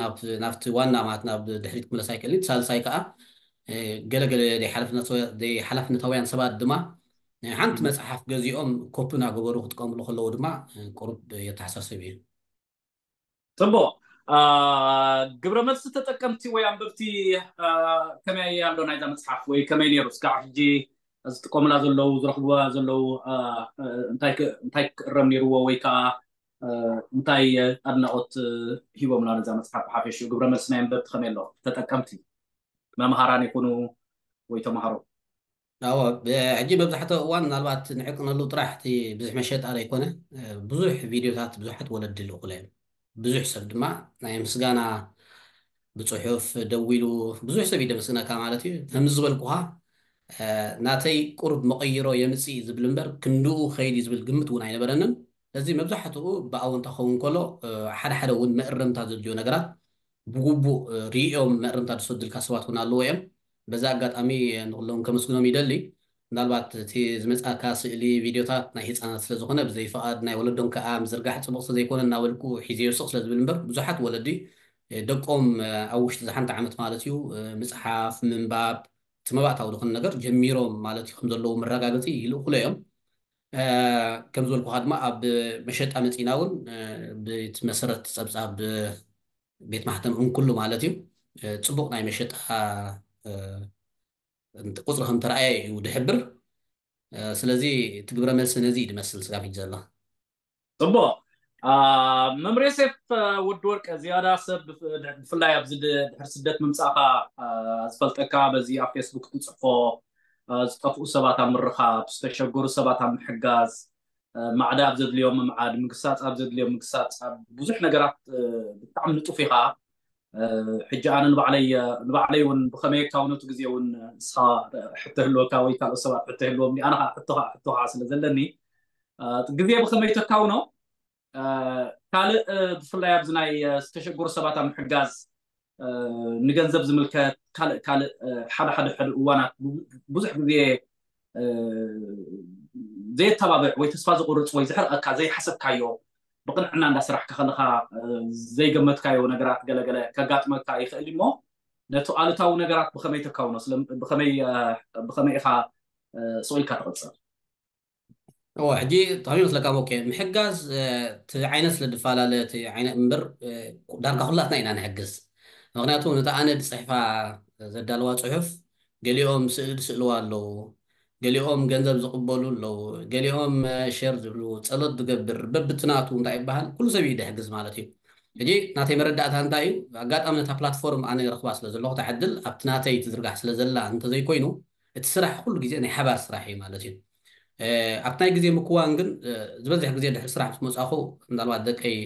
ናብቲ ዋና ማለት ናብ ድሕሪት ክምለስ ኣይክእልኒ። ሳልሳይ ከዓ ገለገለ ሓላፍነታውያን ሰባት ድማ ሓንቲ መፅሓፍ ገዚኦም ኮፒ እናገበሩ ክጥቀምሉ ከለዉ ድማ ቁሩብ የተሓሳስብ እዩ። ፅቡቅ። ግብረ መልሲ ተጠቀምቲ ወይ ኣንበብቲ ከመይ ኣሎ ናይዛ መፅሓፍ ወይ ከመይ ነይሩ? እስካብ ሕጂ ዝጥቀሙላ ዘለዉ ዝረኽብዋ ዘለዉ እንታይ ክእረም ነይርዎ ወይ ከዓ እንታይ ኣድናቆት ሂቦምላ ነዛ መፅሓፍ ብሓፈሽኡ ግብረ መልሲ ናይ ኣንበብቲ ከመይ ኣሎ? ተጠቀምቲ መምሃራን ይኹኑ ወይ ተምሃሮ። ሕጂ መብዛሕትኡ እዋን ምናልባት ንዕቅነሉ ጥራሕ እቲ ብዙሕ መሸጣ ዘይኮነ ብዙሕ ቪድዮታት ብዙሓት ወለዲ ልእኩለ እዮም። ብዙሕ ሰብ ድማ ናይ ምስጋና ብፅሑፍ ደዊሉ ብዙሕ ሰብ ይደመስግነካ ማለት እዩ። ከምዚ ዝበልኩኻ ናተይ ቁሩብ መቐይሮ የምፅእ ዝብል እምበር ክንድኡ ከይድ ዝብል ግምት እውን ኣይነበረንን። ስለዚ መብዛሕትኡ ብኣወንታ ክኸውን ከሎ ሓደ ሓደ እውን መእረምታ ዘድልዮ ነገራት ብግቡእ ሪኦም መእረምታ ዝሰዱልካ ሰባት እውን ኣለዎ እዮም። በዛ ኣጋጣሚ ንኩሎም ከመስግኖም ይደሊ። ምናልባት እቲ ዝመፃካ ስእሊ ቪድዮታት ናይ ህፃናት ስለዝኾነ ብዘይ ፍቓድ ናይ ወለዶም ከዓ ምዝርጋሕ ፅቡቕ ስለዘይኮነ እናበልኩ ሒዘዮ ስቕ ስለዝብል እምበር ብዙሓት ወለዲ ደቆም ኣብ ውሽጢ ዝሓንቲ ዓመት ማለት እዩ ምፅሓፍ ምንባብ እቲ መባእታዊ ዝኾነ ነገር ጀሚሮም ማለት እዩ ከምዘለዉ መረጋገፂ ይልእኩሎ እዮም። ከም ዝበልኩካ ድማ ኣብ መሸጣ መፂና እውን ብቲ መሰረት ፀብፃብ ቤት ማሕተም እንኩሉ ማለት እዩ ፅቡቕ ናይ መሸጣ ቁፅሪ ከም ተረኣየ እዩ ድሕብር። ስለዚ እቲ ግብረ መልሲ ነዚ እዩ ድመስል ስጋብ ሕጂ ዘሎ። ፅቡቕ። መምህር ዮሴፍ ወዲ ወርቀ፣ ዝያዳ ሰብ ብፍላይ ኣብዚ ድሕሪ ስደት ምምፃእካ ዝፈልጠካ በዚ ኣብ ፌስቡክ ትፅሕፎ ዝጠፍኡ ሰባት ኣብ ምርኻብ፣ ዝተሸገሩ ሰባት ኣብ ምሕጋዝ፣ ማዕዳ ኣብ ዘድልዮም ምምዓድ፣ ምግሳፅ ኣብ ዘድልዮም ምግሳፅ፣ ኣብ ብዙሕ ነገራት ብጣዕሚ ንጡፍ ኢኻ። ሕጂ ኣነ ንባዕለይ ንባዕለይ እውን ብኸመይ እካ እውነቱ ግዜ እውን ንስኻ ሕቶ ህልወካ ወይ ካልኦት ሰባት ሕቶ ህልዎም ኣነ ከዓ ሕቶ ከዓ ሕቶ ከዓ ስለ ዘለኒ ግዜ ብኸመይ ተካውኖ ካልእ ብፍላይ ኣብዚ ናይ ዝተሸገሩ ሰባት ኣብ ምሕጋዝ ንገንዘብ ዝምልከት ካልእ ካልእ ሓደ ሓደ ሓደ እዋናት ብዙሕ ግዜ ዘየተባብዕ ወይ ተስፋ ዝቁርፅ ወይ ዝሕርቀካ ዘይሓሰብካዮ ብቅንዕና እንዳስራሕካ ከለካ ዘይገመትካዮ ነገራት ገለገለ ከጋጥመካ ይኽእል እሞ ነቲ ኣሉታዊ ነገራት ብኸመይ ተካውኖ ብኸመይ ኢኻ ስቕ ኢልካ ትቕፅል? እዎ ሕጂ ተኸሚ መስለካ ሞኬ ምሕጋዝ እቲ ዓይነት ስለ ድፈላለ እቲ ዓይነት እምበር ዳርጋ ኩላትና ኢና ንሕግዝ። ምክንያቱ ነቲ ኣነ ድፅሕፋ ዘዳለዋ ፅሑፍ ገሊኦም ስእሊ ድስእልዋ ኣለዉ፣ ገሊኦም ገንዘብ ዝቕበሉ ኣለዉ፣ ገሊኦም ሸር ዝብሉ፣ ፀሎት ዝገብር፣ በብትናቱ እንታይ ይበሃል ኩሉ ሰብ እዩ ድሕግዝ ማለት እዩ። ሕጂ ናተይ መረዳእታ እንታይ እዩ? ኣጋጣሚ ነታ ፕላትፎርም ኣነ ረኽባ ስለ ዘለኹ እታ ዕድል ኣብቲ ናተይ ትዝርጋሕ ስለ ዘላ እንተዘይኮይኑ እቲ ስራሕ ኩሉ ግዜ ናይ ሓባር ስራሕ እዩ ማለት እዩ። ኣብቲ ናይ ግዜ ምክዋን ግን ዝበዝሕ ግዜ ድሕሪ ስራሕ ምስ መፃኹ ምናልባት ደቀይ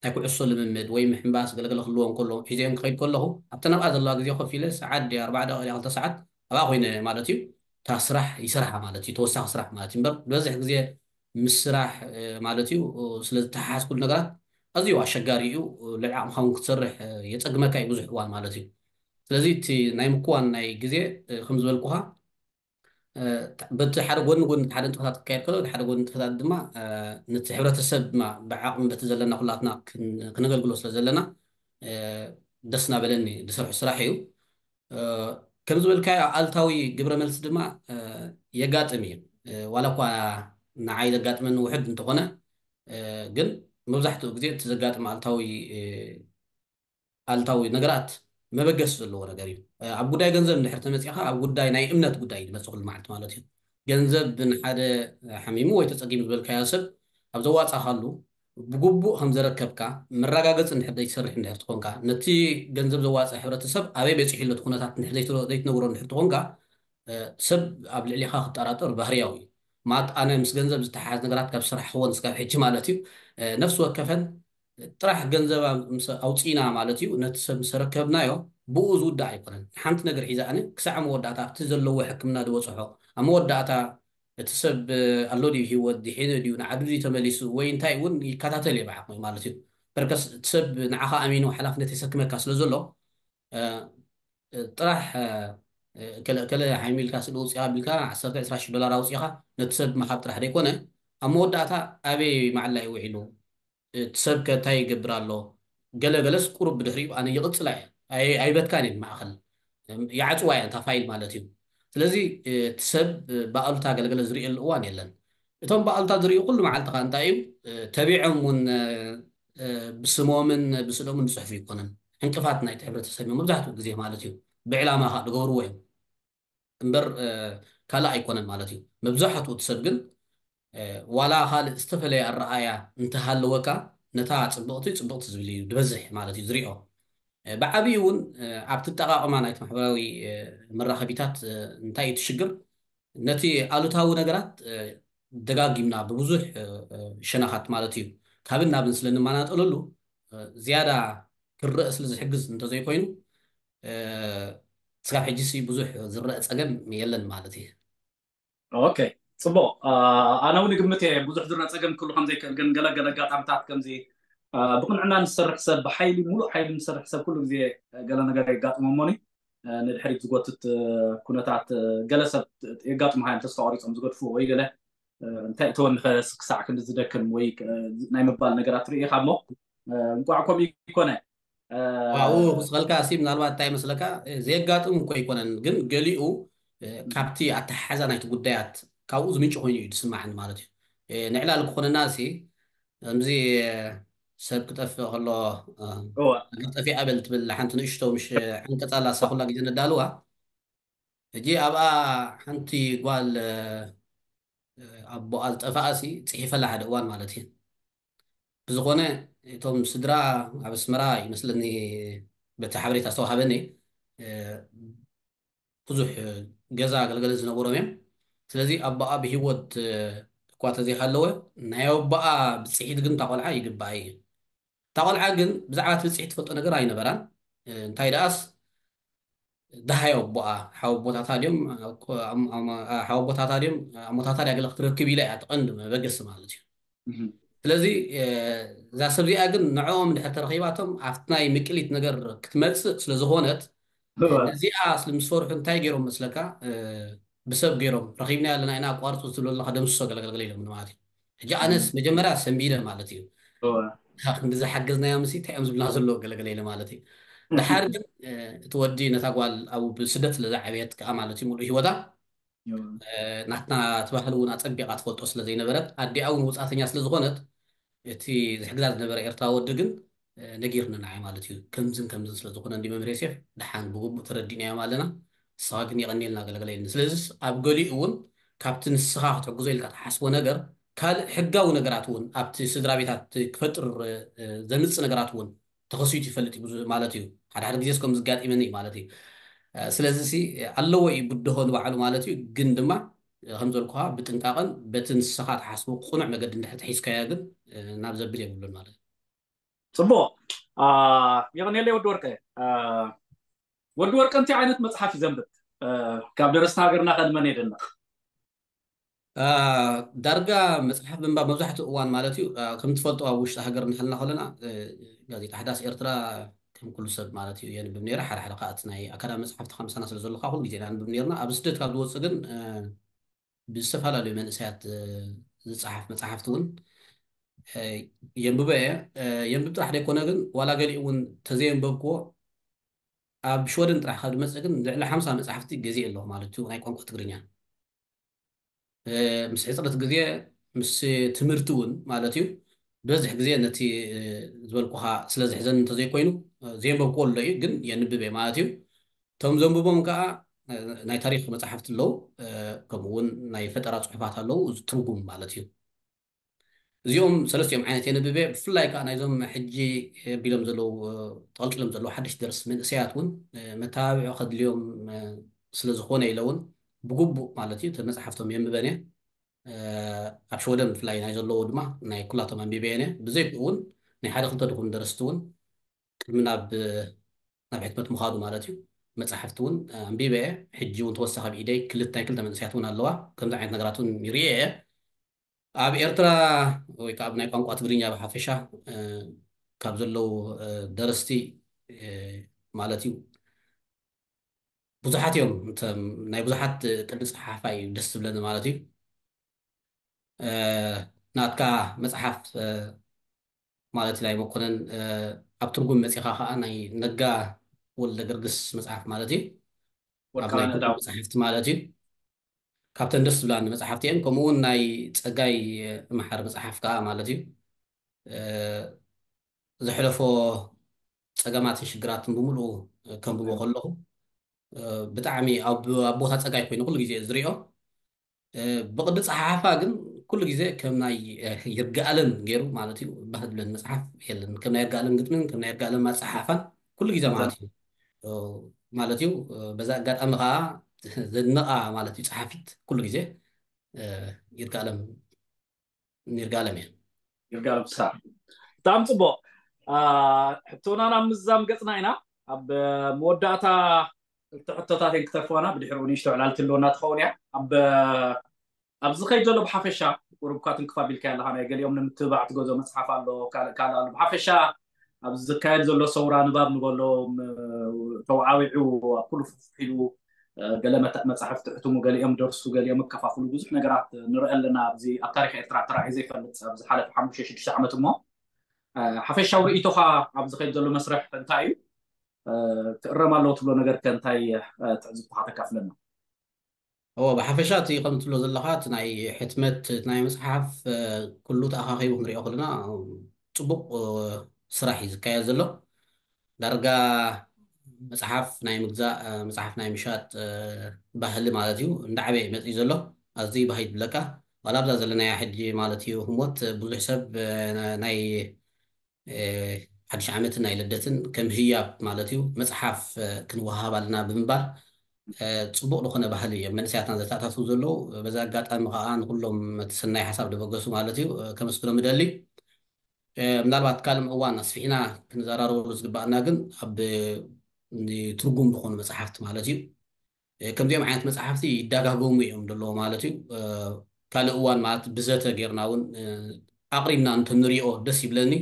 ናይ ኩዕሶ ልምምድ ወይ ምሕንባስ ገለገለ ክህልዎ እንከሎ ሒዘዮም ክኸይድ ከለኹ ኣብተን ኣብኣ ዘለዋ ግዜ ኮፍ ኢለ ሰዓት ድያ ኣርባዓ ደቂቃ ድያ ክልተ ሰዓት ኣብኣ ኮይነ ማለት እዩ እታ ስራሕ ይሰርሓ ማለት እዩ ተወሳኺ ስራሕ ማለት እዩ እምበር ዝበዝሕ ግዜ ምስ ስራሕ ማለት እዩ ስለ ዝተሓሓዝ ኩሉ ነገራት ኣዝዩ ኣሸጋሪ እዩ ልዕሊ ዓቕምኻ እውን ክትሰርሕ የፀግመካ እዩ ብዙሕ እዋን ማለት እዩ ስለዚ እቲ ናይ ምክዋን ናይ ግዜ ከም ዝበልኩኻ በቲ ሓደ ጎኒ ጎኒ ሓደ ንጥፈታት ክካየድ ከሎ ሓደ ጎኒ ንጥፈታት ድማ ነቲ ሕብረተሰብ ድማ ብዓቕሚ በቲ ዘለና ኩላትና ክነገልግሎ ስለ ዘለና ደስ እናበለኒ ዝሰርሑ ስራሕ እዩ ከም ዝበልካዮ ኣልታዊ ግብረ መልሲ ድማ የጋጥም እዩ ዋላ እኳ ንዓይ ዘጋጥመኒ ውሕድ እንተኾነ ግን መብዛሕትኡ ግዜ እቲ ዘጋጥም ኣልታዊ ኣልታዊ ነገራት መበገሲ ዘለዎ ነገር እዩ ኣብ ጉዳይ ገንዘብ እንድሕር ተመፂኻ ኣብ ጉዳይ ናይ እምነት ጉዳይ እዩ ዝመፅእ ኩሉ መዓልቲ ማለት እዩ ገንዘብ ንሓደ ሓሚሙ ወይ ተፀጊሙ ዝበልካዮ ሰብ ኣብ ዘዋፃኻሉ ብግቡእ ከም ዘረከብካ መረጋገፂ እንድሕር ዘይትሰርሕ እንድሕር ትኾንካ ነቲ ገንዘብ ዘዋፅእ ሕብረተሰብ ኣበይ በፂሑ ኣሎ እቲ ኩነታት እንድሕር ዘይትነግሮ እንድሕር ትኾንካ ሰብ ኣብ ልዕሊኻ ክጠራጠር ባህርያዊ እዩ ማለት ኣነ ምስ ገንዘብ ዝተሓሓዝ ነገራት ካብ ስራሕ ክወንስ ካብ ሕጂ ማለት እዩ ነፍሲ ወከፈን ጥራሕ ገንዘብ ኣውፅኢና ማለት እዩ ነቲ ሰብ ምስ ኣረከብናዮ ብኡ ዝውዳእ ኣይኮነን ሓንቲ ነገር ሒዛ ኣነ ክሳዕ መወዳእታ ኣብቲ ዘለዎ ሕክምና ዝበፅሖ ኣብ መወዳእታ እቲ ሰብ ኣሎ ድዩ ሂወት ድሒኑ ድዩ ንዓዱ ድዩ ተመሊሱ ወይ እንታይ እውን ይከታተል እየ ብዓቕሚ ማለት እዩ በርከስ እቲ ሰብ ንዓኻ ኣሚኑ ሓላፍነት የሰክመካ ስለ ዘሎ ጥራሕ ከለ ከለ ሓይሚ ኢልካ ስእሊ ውፅኢኻ ቢልካ ዓሰርተ ዕስራ ሽሕ ዶላር ኣውፅኢኻ ነቲ ሰብ ምሃብ ጥራሕ ዘይኮነ ኣብ መወዳእታ ኣበይ መዓላ እዩ ውዒሉ እቲ ሰብ ከ እንታይ ይገብር ኣሎ ገለ ገለስ ቁሩብ ብድሕሪኡ ኣነ ይቕፅላ እየ ኣይበትካን እየ ማእኸል ይዓፅዋ እየ እታ ፋይል ማለት እዩ ስለዚ እቲ ሰብ ብኣሉታ ገለገለ ዝርእየሉ እዋን የለን እቶም ብኣሉታ ዝርእዩ ኩሉ መዓልትኻ እንታይ እዩ ተቢዖም እውን ብስሞምን ብስእሎምን ዝፅሕፉ ኣይኮነን። ዕንቅፋት ናይቲ ሕብረተሰብ እዮም መብዛሕትኡ ግዜ ማለት እዩ። ብዕላማ ከዓ ዝገብርዎ እዮም እምበር ካልእ ኣይኮነን ማለት እዩ። መብዛሕትኡ እቲ ሰብ ግን ዋላ ካልእ ዝተፈለየ ኣረኣእያ እንተሃለወካ፣ ነታ ፅብቕቲ ፅብቕቲ ዝብል እዩ ዝበዝሕ ማለት እዩ ዝሪኦ። ብዓብዩ እውን ኣብቲ ኣጠቓቕማ ናይቲ ማሕበራዊ መራኸቢታት እንታይ እዩ እቲ ሽግር? ነቲ ኣሉታዊ ነገራት ደጋጊምና ብብዙሕ ሸነኻት ማለት እዩ ካብን ናብን ስለ ንመናጠለሉ ዝያዳ ክረእ ስለ ዝሕግዝ እንተዘይኮይኑ፣ ስጋብ ሕጂ ሲ ብዙሕ ዝረአ ፀገም የለን ማለት እዩ። ኦኬ፣ ፅቡቕ። ኣነ እውን ግምት እየ ብዙሕ ዝረአ ፀገም ክህሉ ከምዘይክእል፣ ግን ገለገለ ኣጋጣምታት ከምዚ ብቕንዕና ንሰርሕ ሰብ፣ ብሓይሊ፣ ሙሉእ ሓይሊ ንሰርሕ ሰብ ኩሉ ግዜ ገለ ነገር የጋጥሞ እሞኒ ንድሕሪት ዝጎትት ኩነታት ገለ ሰብ የጋጥሙ ሃዮም ተስፋ ቆሪፆም ዝገድፉ ወይ ገለ እንታይ እተወኒ ክሳዕ ክንዲ ዝደክም ወይ ናይ ምባል ነገራት ርኢኻ እሞ እንቋዕ ከምኡ ይኮነ። ኣብኡ ክስኸልካ ሲ ምናልባት እንታይ መስለካ፣ ዘየጋጥም እኮ ኣይኮነን፣ ግን ገሊኡ ካብቲ ኣተሓሓዛ ናይቲ ጉዳያት ካብኡ ዝምንጭ ኮይኑ እዩ ዝስማዓኒ ማለት እዩ። ንዕላል ክኾነና ሲ ከምዚ ሰብ ክጠፍእ ከሎ ሃገር ጠፊኣ በል ትብል ሓንቲ ንእሽቶ ምሽ ዓንቀፃ ኣላ፣ እሳ ኩላ ግዜ ነዳልዋ። ሕጂ ኣብኣ ሓንቲ ጓል ኣቦኣ ዝጠፍኣ ሲ ፅሒፈላ ሓደ እዋን ማለት እዩ። ብዝኾነ እቶም ስድራ ኣብ ኣስመራ ይመስለኒ በቲ ሓበሬታ ዝተዋሃበኒ ብዙሕ ገዛ ኣገልገለ ዝነበሮም እዮም። ስለዚ ኣቦኣ ብሂወት እኳ ተዘይሃለወ ናይ ኣቦኣ ብፅሒት ግን እታ ቆልዓ ይግባኣ እዩ። እታ ቆልዓ ግን ብዛዕባ እቲ ብፅሒት ትፈልጦ ነገር ኣይነበራን። እንታይ ደኣስ ደሃይ ኣቦኣ ሓወቦታታ ድዮም ሓወቦታታ ድዮም ኣሞታታ ድያ ገለ ክትረክብ ኢላ እያ ትቐንዲ መበገሲ ማለት እዩ። ስለዚ እዛ ሰብ እዚኣ ግን ንዕኦም ድሕር ተረኺባቶም ኣብቲ ናይ ምቅሊት ነገር ክትመፅእ ስለዝኾነት ነዚኣ ስለ ምስ ፈርሑ እንታይ ገይሮም መስለካ? ብሰብ ገይሮም ረኺብና ኣለና ኢና ኣቋርፁ ዝብሉ ኣለካ ደምስሶ ገለገልገለ ኢሎም ማለት እዩ። ሕጂ ኣነስ መጀመርያ ሰንቢደ ማለት እዩ። ክንዲ ዝሓገዝናዮ ምስ እንታይ እዮም ዝብልና ዘለዎ ገለገለ ኢለ ማለት እዩ። ድሓር ግን እቲ ወዲ ነታ ጓል ኣብ ብስደት ስለ ዝዓበየት ከዓ ማለት እዩ ሙሉእ ህይወታ ናትና እቲ ባህሊ እውን ኣፀቢቓ ትፈልጦ ስለ ዘይነበረት ኣዲኣ እውን ውፃእተኛ ስለ ዝኾነት እቲ ዝሕግዛ ዝነበረ ኤርትራ ወዲ ግን ነጊርኒ ንዓይ ማለት እዩ። ከምዝን ከምዝን ስለ ዝኾነ እንዲ መምህር ዮሴፍ ደሓን ብግቡእ ተረዲእናዮም ኣለና። ንስኻ ግን የቐንየልና ገለገለ ኢልኒ። ስለዚስ ኣብ ገሊኡ እውን ካብቲ ንስኻ ክትሕግዞ ኢልካ ትሓስቦ ነገር ካልእ ሕጋዊ ነገራት እውን ኣብቲ ስድራ ቤታት ክፈጥር ዘምፅእ ነገራት እውን ተኸሲቱ ይፈልጥ እዩ ማለት እዩ። ሓደ ሓደ ግዜስ ከም ዝጋጢመኒ እዩ ማለት እዩ። ስለዚ ሲ ኣለዎ እዩ ብድሆ ንባዕሉ ማለት እዩ። ግን ድማ ከም ዘልኩኻ ብጥንቃቐን በቲ ንስኻ ትሓስቦ ቅኑዕ መገዲ እንድሕር ተሒዝካዮ ግን ናብ ዘብል የብሉን ማለት እዩ። ፅቡቕ። የቐንየለይ ወዲ ወርቀ። ወዲ ወርቀ እንታይ ዓይነት መፅሓፍ እዩ ዘንብብ? ካብ ደረስቲ ሃገርና ከ ንመን የድንቕ? ዳርጋ መፅሓፍ ምንባብ መብዛሕትኡ እዋን ማለት እዩ ከም ትፈልጦ ኣብ ውሽጢ ሃገር እናሃልና ከለና ጋዜጣ ሓዳስ ኤርትራ ከም ኩሉ ሰብ ማለት እዩ የንብብ ነይረ። ሓደ ሓደ ከዓ እቲ ናይ ኣካዳሚ መፅሓፍቲ ካብ ምሳና ስለ ዘሎ ከዓ ኩሉ ግዜ ኢና ንብብ ነይርና። ኣብ ስደት ካብ ዝወፅእ ግን ብዝተፈላለዩ መንእሰያት ዝፀሓፍ መፅሓፍቲ እውን የንብበ እየ። የንብብ ጥራሕ ዘይኮነ ግን ዋላ ገሊኡ እውን ተዘየንበብክዎ ኣብ ሽወደን ጥራሕ ካብ ዝመፅእ ግን ልዕሊ ሓምሳ መፅሓፍቲ ገዚእ ኣለኹ ማለት እዩ ናይ ቋንቋ ትግርኛ። ምስ ሕፅረት ግዜ ምስ ትምህርቲ እውን ማለት እዩ በዝሕ ግዜ ነቲ ዝበልኩኻ ስለ ዝሕዘን እንተዘይኮይኑ ዘየንበብክዎ ኣሎ እዩ ግን የንብብ እየ ማለት እዩ። እቶም ዘንብቦም ከዓ ናይ ታሪክ መፅሓፍቲ ኣለዉ፣ ከምኡ እውን ናይ ፈጠራ ፅሑፋት ኣለዉ ትርጉም ማለት እዩ። እዚኦም ሰለስቲኦም ዓይነት የንብብ እየ። ብፍላይ ከዓ ናይዞም ሕጂ ኣቢሎም ዘለዉ ጠልቂሎም ዘለዉ ሓደሽቲ ደረስቲ መንእሰያት እውን መተባብዒ ከድልዮም ስለ ዝኾነ ኢለ እውን ብግቡእ ማለት እዩ መፅሓፍቶም የንብበን እየ። ኣብ ሽወደን ብፍላይ ናይ ዘለዉ ድማ ናይ ኩላቶም ኣንቢበ እየ። ብዘይክኡ እውን ናይ ሓደ ክልተ ድኹም ደረስቲ እውን ቅድሚ ናብ ናብ ሕትመት ምኻዱ ማለት እዩ መፅሓፍቲ እውን ኣንቢበ እየ። ሕጂ እውን ተወሳኺ ኣብ ኢደይ ክልተ ናይ ክልተ መንእሰያት እውን ኣለዋ። ከምዚ ዓይነት ነገራት እውን ይርኤ እየ። ኣብ ኤርትራ ወይ ከዓ ኣብ ናይ ቋንቋ ትግርኛ ብሓፈሻ ካብ ዘለዉ ደረስቲ ማለት እዩ ብዙሓት እዮም። ናይ ብዙሓት ቅዲ ፀሓፋ እዩ ደስ ዝብለኒ ማለት እዩ። ናትካ መፅሓፍ ማለት ናይ መኮነን ኣብ ትርጉም መፂኻ ከዓ ናይ ነጋ ወልደ ገርግስ መፅሓፍ ማለት እዩ። መፅሓፍቲ ማለት እዩ ካብተን ደስ ዝብላኒ መፅሓፍቲ እየን። ከምኡ እውን ናይ ፀጋይ መሓሪ መፅሓፍ ከዓ ማለት እዩ ዘሕለፎ ጸገማትን ሽግራትን ብምሉኡ ከንብቦ ከለኹ፣ እ፣ ብጣዕሚ ኣብ፣ ኣብ ቦታ ጸጋይ ኮይኑ ኩሉ ግዜ ዝሪኦ። እ፣ ብቕዲ ጸሓሓፋ ግን ኩሉ ግዜ ከም ናይ፣ እ፣ ይርጋኣለም ገይሩ ማለት እዩ። ባህ ዝብለኒ መጽሓፍ የለን። ከም ናይ ይርጋኣለም ግጥምን ከም ናይ ይርጋኣለም ኣጸሓሓፋን ኩሉ ግዜ ማለት እዩ። እ፣ ማለት እዩ። እ፣ በዛ ኣጋጣሚ ከኣ ዘድንቓ ማለት እዩ ጸሓፊት ኩሉ ግዜ፣ እ፣ ይርጋኣለም፣ ይርጋኣለም እየ። ይርጋኣለም ፍስሃ። ብጣዕሚ ጽቡቕ። አ፣ ሕቶና ናብ ምዛም ገጽና ኢና። ኣብ መወዳእታ ክልተ ሕቶታት እየን ክተርፋና፣ ብድሕሪኡ ንእሽቶ ዕላል ትህልወና ትኸውን እያ። ኣብ፣ ኣብ ዝኸይድ ዘሎ ብሓፈሻ፣ ቁሩብ እኳ ትንክፍ ኣቢልካዮ ኣለኻ፣ ናይ ገሊኦም ንምትብባዕ ትገዝኦ መጽሓፍ ኣሎ፣ ካልእ፣ ካልእ ኣሎ። ብሓፈሻ ኣብዚ ዝካየድ ዘሎ ሰውራ ንባብ ንበሎ፣ ም-፣ ተወዓዊዑ ኣብ ኩሉ ፍሕፍ ኢሉ፣ እ፣ ገለ መታ-፣ መጻሕፍቲ ሕትሙ፣ ገሊኦም ደርሱ፣ ገሊኦም እከፋፍሉ፣ ብዙሕ ነገራት ንርኢ ኣለና። ኣብዚ ኣብ ታሪኽ ኤርትራ ተራእዩ ዘይፈልጥ፣ ኣብ ዝሓለፈ ሓሙሽተ ሽዱሽተ ዓመት እሞ፣ እ፣ ሓፈሻዊ ርእይቶኻ ኣብ ዝኸይድ ዘሎ መስርሕ እንታይ እዩ? እ፣ ክእረም ኣለዎ ትብሎ ነገር ከ እንታይ፣ እ፣ ትዕዝብትኻ ተካፍለና? እዎ፣ ብሓፈሻ እቲ ከም ትብሎ ዘለኻ፣ እቲ ናይ ሕትመት፣ እቲ ናይ መጽሓፍ፣ እ፣ ኩሉ ተኣኻኺቡ ክንሪኦ ከለና፣ እ፣ ጽቡቕ፣ እ፣ ስራሕ እዩ ዝካየድ ዘሎ። ዳርጋ መጽሓፍ ናይ ምግዛእ፣ እ፣ መጽሓፍ ናይ ምሻጥ፣ እ፣ ባህሊ ማለት እዩ፣ እንዳዓበየ መጽዩ ዘሎ። ኣዝዩ ባህ ይብለካ። ዋላ ኣብዛ ዘለናያ ሕጂ ማለት እዩ ህሞት፣ ብዙሕ ሰብ፣ እ፣ ናይ እ፣ ሓድሽ ዓመትን ናይ ልደትን ከም ህያብ ማለት እዩ፣ መጽሓፍ፣ እ፣ ክንወሃሃብ ኣለና ብምባል፣ እ፣ ጽቡቕ ዝኾነ ባህሊ እዮም መንእሰያትና ዘተኣታትዉ ዘለዉ። በዚ ኣጋጣሚ ከኣ ንኹሎም እቲ ሰናይ ሓሳብ ዘበገሱ ማለት እዩ፣ እ፣ ከመስግኖም እደሊ። እ፣ ምናልባት ካልእ እዋን ኣስፊሕና ክንዘራረበሉ ዝግባኣና ግን ኣብ፣ እ፣ ትርጉም ዝኾኑ መጽሓፍቲ ማለት እዩ። እ፣ ከምዚኦም ዓይነት መጽሓፍቲ ይደጋገሙ እዮም ዘለዉ ማለት እዩ። እ፣ ካልእ እዋን ማለት ብዘተ ጌርና እውን፣ እ፣ ኣቕሪብና እንተንሪኦ ደስ ይብለኒ።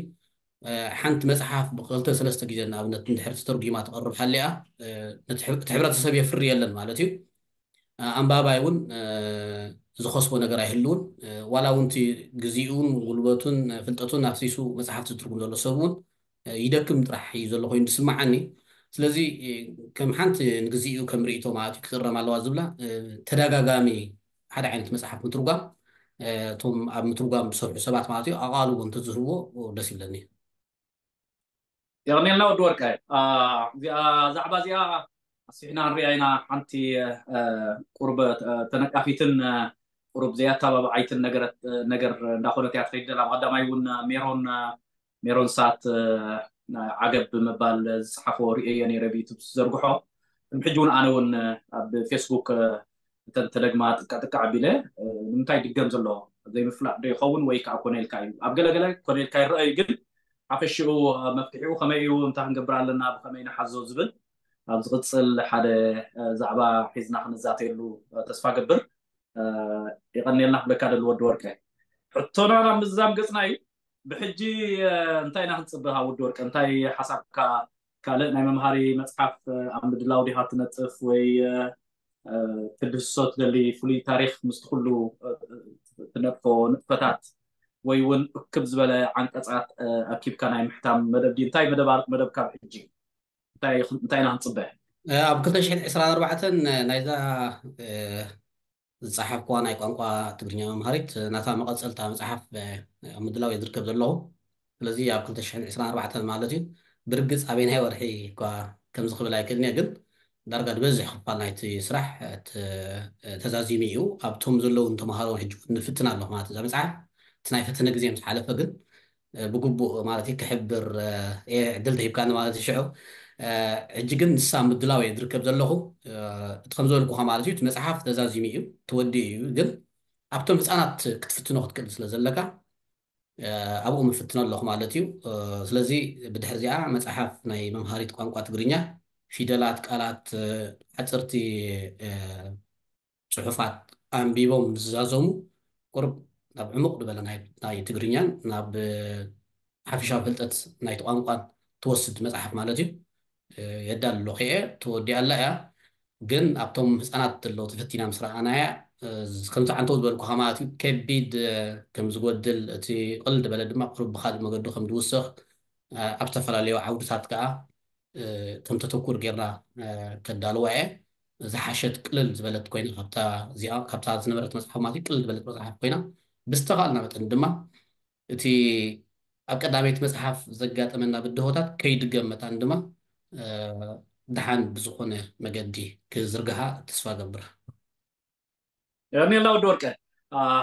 እ፣ ሓንቲ መጽሓፍ ብክልተ ሰለስተ ግዜ ንኣብነት እንድሕር ተተርጒማ ትቐርብ ሃሊኣ፣ እ፣ ነቲ ሕብረ-፣ እቲ ሕብረተሰብ የፍሪ የለን ማለት እዩ። እ፣ ኣንባባይ እውን፣ እ፣ ዝኸስቦ ነገር ኣይህልውን። እ፣ ዋላ እውን እቲ ግዜኡን ጉልበቱን ፍልጠቱን ኣፍሲሱ መጽሓፍቲ ዝትርጉም ዘሎ ሰብ እውን፣ እ፣ ይደክም ጥራሕ እዩ ዘሎ ኮይኑ ዝስምዓኒ። ስለዚ፣ እ፣ ከም ሓንቲ ንግዜኡ ከም ርእይቶ ማለት እዩ ክእረም ኣለዋ ዝብላ፣ እ፣ ተደጋጋሚ ሓደ ዓይነት መጽሓፍ ምትርጓም፣ እ፣ እቶም ኣብ ምትርጓም ዝሰርሑ ሰባት ማለት እዩ ኣቓልቦ እንተዝህብዎ ደስ ይብለኒ። የቐንየልና ወዲ ወርቀ። አ፣ እዚኣ፣ ዛዕባ እዚኣ ኣስፊሕና ንሪኣ ኢና። ሓንቲ፣ አ፣ ቁሩብ፣ አ፣ ተነቃፊትን፣ አ፣ ቁሩብ ዘያተባባዓይትን ነገር፣ ነገር እንዳኾነት እያ ትኸይድ ዘላ። ብቐዳማይ እውን ሜሮን፣ ሜሮን ሳት፣ አ፣ ዓገብ ብምባል ዝጸሓፎ ርእየዮ ነይረ ብዩቱብ ዝዘርግሖ። ቅድሚ ሕጂ እውን ኣነ እውን ኣብ ፌስቡክ፣ አ፣ እተን ተደግማ ጥቃ ጥቃ ኣቢለ፣ እ፣ ንምንታይ ይድገም ዘሎ ዘይምፍላጥ ዶ ይኸውን ወይ ከዓ ኮነ ኢልካ እዩ? ኣብ ገለገለ ኮነ ኢልካ ይረአ እዩ፣ ግን ሓፈሽኡ፣ እ፣ መፍትሒኡ ከመይ እዩ፣ እንታይ ክንገብር ኣለና፣ ብኸመይ ንሓዞ ዝብል ኣብ ዝቕጽል ሓደ፣ እ፣ ዛዕባ ሒዝና ክንዛተየሉ፣ እ፣ ተስፋ ገብር። እ፣ የቐንየልና ክብለካ ደሊ ወዲ ወርቀ። ሕቶና ናብ ምዝዛም ገጽና እዩ። ብሕጂ፣ እ፣ እንታይ ኢና ክንጽበ ካብ ወዲ ወርቀ? እንታይ ሓሳብካ? ካልእ ናይ መምሃሪ መጽሓፍ፣ እ፣ ኣብ ምድላው ዲኻ ትነጥፍ ወይ፣ እ፣ እ፣ ክትድህስሶ ትደሊ ፍሉይ ታሪኽ ምስቲ ኩሉ፣ እ፣ ትነጥፎ ንጥፈታት ወይ እውን እክብ ዝበለ ዓንቀጻት፣ እ፣ ኣኪብካ ናይ ምሕታም መደብ ድዩ? እንታይ መደብ ኣሎ መደብካ ብሕጂ? እንታይ፣ እንታይ ኢና ክንጽበ? እ፣ ኣብ ክልተ ሽሕን ዕስራን ኣርባዕተን ናይዛ፣ እ፣ ዝጸሓፍኩዋ ናይ ቋንቋ ትግርኛ መምሃሪት ናታ መቐጸልታ መጽሓፍ፣ እ፣ ኣብ ምድላው እየ ዝርከብ ዘለኹ። ስለዚ ኣብ ክልተ ሽሕን ዕስራን ኣርባዕተን ማለት እዩ። ብርግጽ ኣበይናይ ወርሒ እኳ ከምዚ ክብል ኣይክእልን እየ፣ ግን ዳርጋ ዝበዝሕ ክፋል ናይቲ ስራሕ፣ እ፣ ተ-፣ እ፣ ተዛዚሙ እዩ። ኣብቶም ዘለዉ ተምሃሮ ሕጂ እውን ንፍትን ኣለኹ ማለት እዩ። እዛ መጽሓፍ እቲ ናይ ፈተነ ግዜ ምስ ሓለፈ ግን፣ እ፣ ብግቡእ ማለት እዩ ክሕብር፣ እ፣ እየ ዕድል ተሂብካኒ ማለት እዩ። ሽዑ፣ እ፣ ሕጂ ግን ንሳ ምድላው እየ ዝርከብ ዘለኹ። እ፣ እቲ ከም ዝበልኩኻ ማለት እዩ፣ እቲ መጽሓፍ ተዛዚሙ እዩ፣ ተወዲኡ እዩ። ግን ኣብቶም ህጻናት ክትፍትኖ ክትክእል ስለ ዘለካ፣ እ፣ ኣብኡ ምፍትኖ ኣለኹ ማለት እዩ። እ፣ ስለዚ ብድሕሪ እዚኣ መጽሓፍ ናይ መምሃሪት ቋንቋ ትግርኛ ፊደላት፣ ቃላት፣ እ፣ ሓጸርቲ፣ እ፣ ጽሑፋት ኣንቢቦም ዝዛዘሙ ቁሩብ ናብ ዕሙቕ ዝበለ ናይ፣ ናይ ትግርኛን ናብ፣ እ፣ ሓፈሻዊ ፍልጠት ናይቲ ቋንቋን ትወስድ መጽሓፍ ማለት እዩ። እ፣ የዳሉ ኣለኹ እየ፣ ተወዲኣ ኣላ እያ። ግን ኣብቶም ህጻናት ዘለዉ ተፈቲና ምስ ረኣናያ፣ እ፣ ከምቲ ዓንተው ዝበልኩኻ ማለት እዩ፣ ከቢድ፣ እ፣ ከም ዝጎድል፣ እቲ ቅልል ዝበለ ድማ ቁሩብ ብኻልእ መገዲ ከም ዝውስኽ፣ እ፣ ኣብ ዝተፈላለዩ ዓውድታት ከኣ፣ እ፣ ከም ተተኩር ጌርና፣ እ፣ ከዳልዋ እየ። ዝሓሸት ቅልል ዝበለት ኮይና ካብታ እዚኣ፣ ካብታ ዝነበረት መጽሓፍ ማለት እዩ፣ ቅልል ዝበለት መጽሓፍ ኮይና፣ ብዝተኻእልና መጠን ድማ እቲ ኣብ ቀዳመይቲ መጽሓፍ ዘጋጠመና ብድሆታት ከይድገም መታን ድማ ደሓን ብዝኾነ መገዲ ክዝርግሓ ተስፋ ገብር። የርኔላ ወዲ ወርቀ፣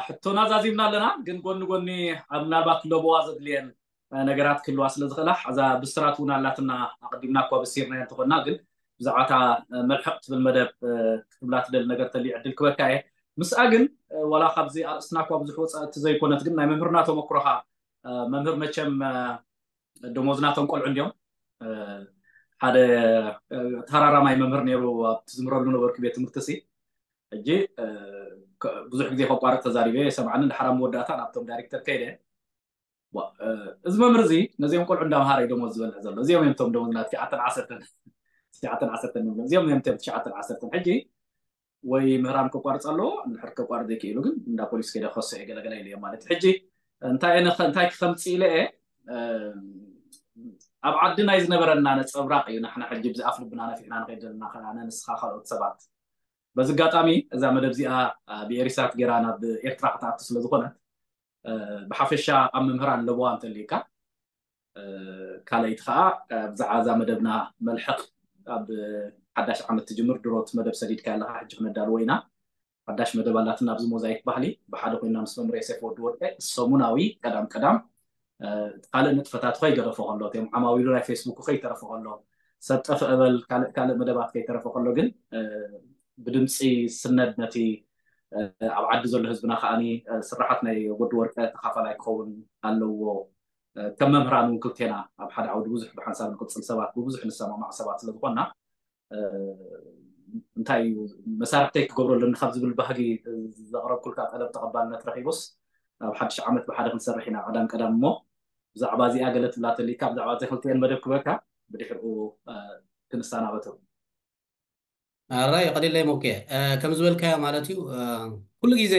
ሕቶና ዛዚምና ኣለና፣ ግን ጎኒ ጎኒ ኣብ ምናልባት ክለበዋ ዘድልየን ነገራት ክህልዋ ስለ ዝኽእላ፣ እዛ ብስራት እውን ኣላትና። ኣቐዲምና እኳ በሲርና እንተኾና፣ ግን ብዛዕባታ መልሕቕ ትብል መደብ ክትብላ ትደሊ ነገር ተልዩ ዕድል ክበካ እየ። ምስኣ ግን ዋላ ካብዚ ኣርእስትና እኳ ብዙሕ ወፃእቲ ዘይኮነት፣ ግን ናይ መምህርና ተመክሮኻ፣ መምህር መቸም ደሞዝና ተንቆልዑ እንዲዮም። ሓደ ተራራማይ መምህር ነይሩ ኣብቲ ዝምረሉ ነበርኩ ቤት ትምህርቲ ሲ። ሕጂ ብዙሕ ግዜ ከቋርጥ ተዛሪበ፣ የሰምዓኒ። ድሓር ኣብ መወዳእታ ናብቶም ዳይሬክተር ከይደ፣ እዚ መምህር እዚ ነዚኦም ቆልዑ እንዳምሃረ እዩ ደሞዝ ዝበልዕ ዘሎ። እዚኦም እዮም እቶም ደሞዝና ትሽዓተን ዓሰርተን፣ ትሽዓተን ዓሰርተን ንብሎ። እዚኦም እዮም እቶም ትሽዓተን ዓሰርተን። ሕጂ ወይ ምህራም ከቋርፅ ኣለዎ፣ እንድሕር ከቋርፅ ዘይክእሉ ግን እንዳ ፖሊስ ከይደ ክኸሶ እየ ገለገለ ኢለ እዮም ማለት እዩ። ሕጂ እንታይ እየ ንኸ-፣ እንታይ ክኸምፅእ ኢለ እየ፣ ኣብ ዓዲ ናይ ዝነበረና ነፀብራቕ እዩ። ንሕና ሕጂ ብዚ ኣፍ ልብና ነፊሕና ንኸይድ ዘለና፣ ኣነ፣ ንስኻ፣ ካልኦት ሰባት። በዚ ኣጋጣሚ እዛ መደብ እዚኣ ብኤሪሳት ጌራ ናብ ኤርትራ ክትኣቱ ስለ ዝኾነት፣ ብሓፈሻ ኣብ መምህራን ለበዋ እንተልዩካ፣ ካልኣይቲ ከዓ ብዛዕባ እዛ መደብና መልሕቕ ኣብ ሓዳሽ ዓመት ትጅምር ድሮት መደብ ሰዲድካ ኣለካ፣ ሕጂ ክነዳልዎ ኢና። ሓዳሽ መደብ ኣላትና ኣብዚ ሞዛይክ ባህሊ፣ ብሓደ ኮይና ምስ መምህር ዮሴፍ ወዲ ወርቀ ሰሙናዊ ቀዳም ቀዳም፣ እ፣ እቲ ካልእ ንጥፈታቱ ከይገደፎ ከሎ፣ እቶም ዓማዊሉ ናይ ፌስቡክ ከይተረፎ ከሎ፣ ሰብ ጠፍእ በል ካልእ ካልእ መደባት ከይተረፎ ከሎ ግን፣ እ፣ ብድምፂ ስነድ ነቲ፣ እ፣ ኣብ ዓዲ ዘሎ ህዝብና ከዓኒ፣ እ፣ ስራሓት ናይ ወዲ ወርቀ ተኻፋላይ ክኸውን ኣለዎ። እ፣ ከም መምህራን እውን ክልቴና ኣብ ሓደ ዓውዲ ብዙሕ ብሓንሳብ ንቅፅል ሰባት፣ ብብዙሕ ንሰማማዕ ሰባት ስለ ዝኾንና፣ እ፣ እንታይ እዩ መሳርሕተይ ክገብሮ ኣለኒ ካብ ዝብል ባህጊ ዘቕረብኩልካ ጠለብ ተቐባልነት ረኺቡስ፣ ኣብ ሓድሽ ዓመት ብሓደ ክንሰርሕ ኢና ቀዳም ቀዳም። እሞ ብዛዕባ እዚኣ ገለ ትብላ ተሊካ፣ ብዛዕባ እዚኣ ክልቲኤን መደብ ክበካ፣ ብድሕሪኡ፣ እ፣ ክንሰናበቱ። ኣራይ፣ ቀሊለይ ሞኬ፣ እ፣ ከም ዝበልካዮ ማለት እዩ። እ፣ ኩሉ ግዜ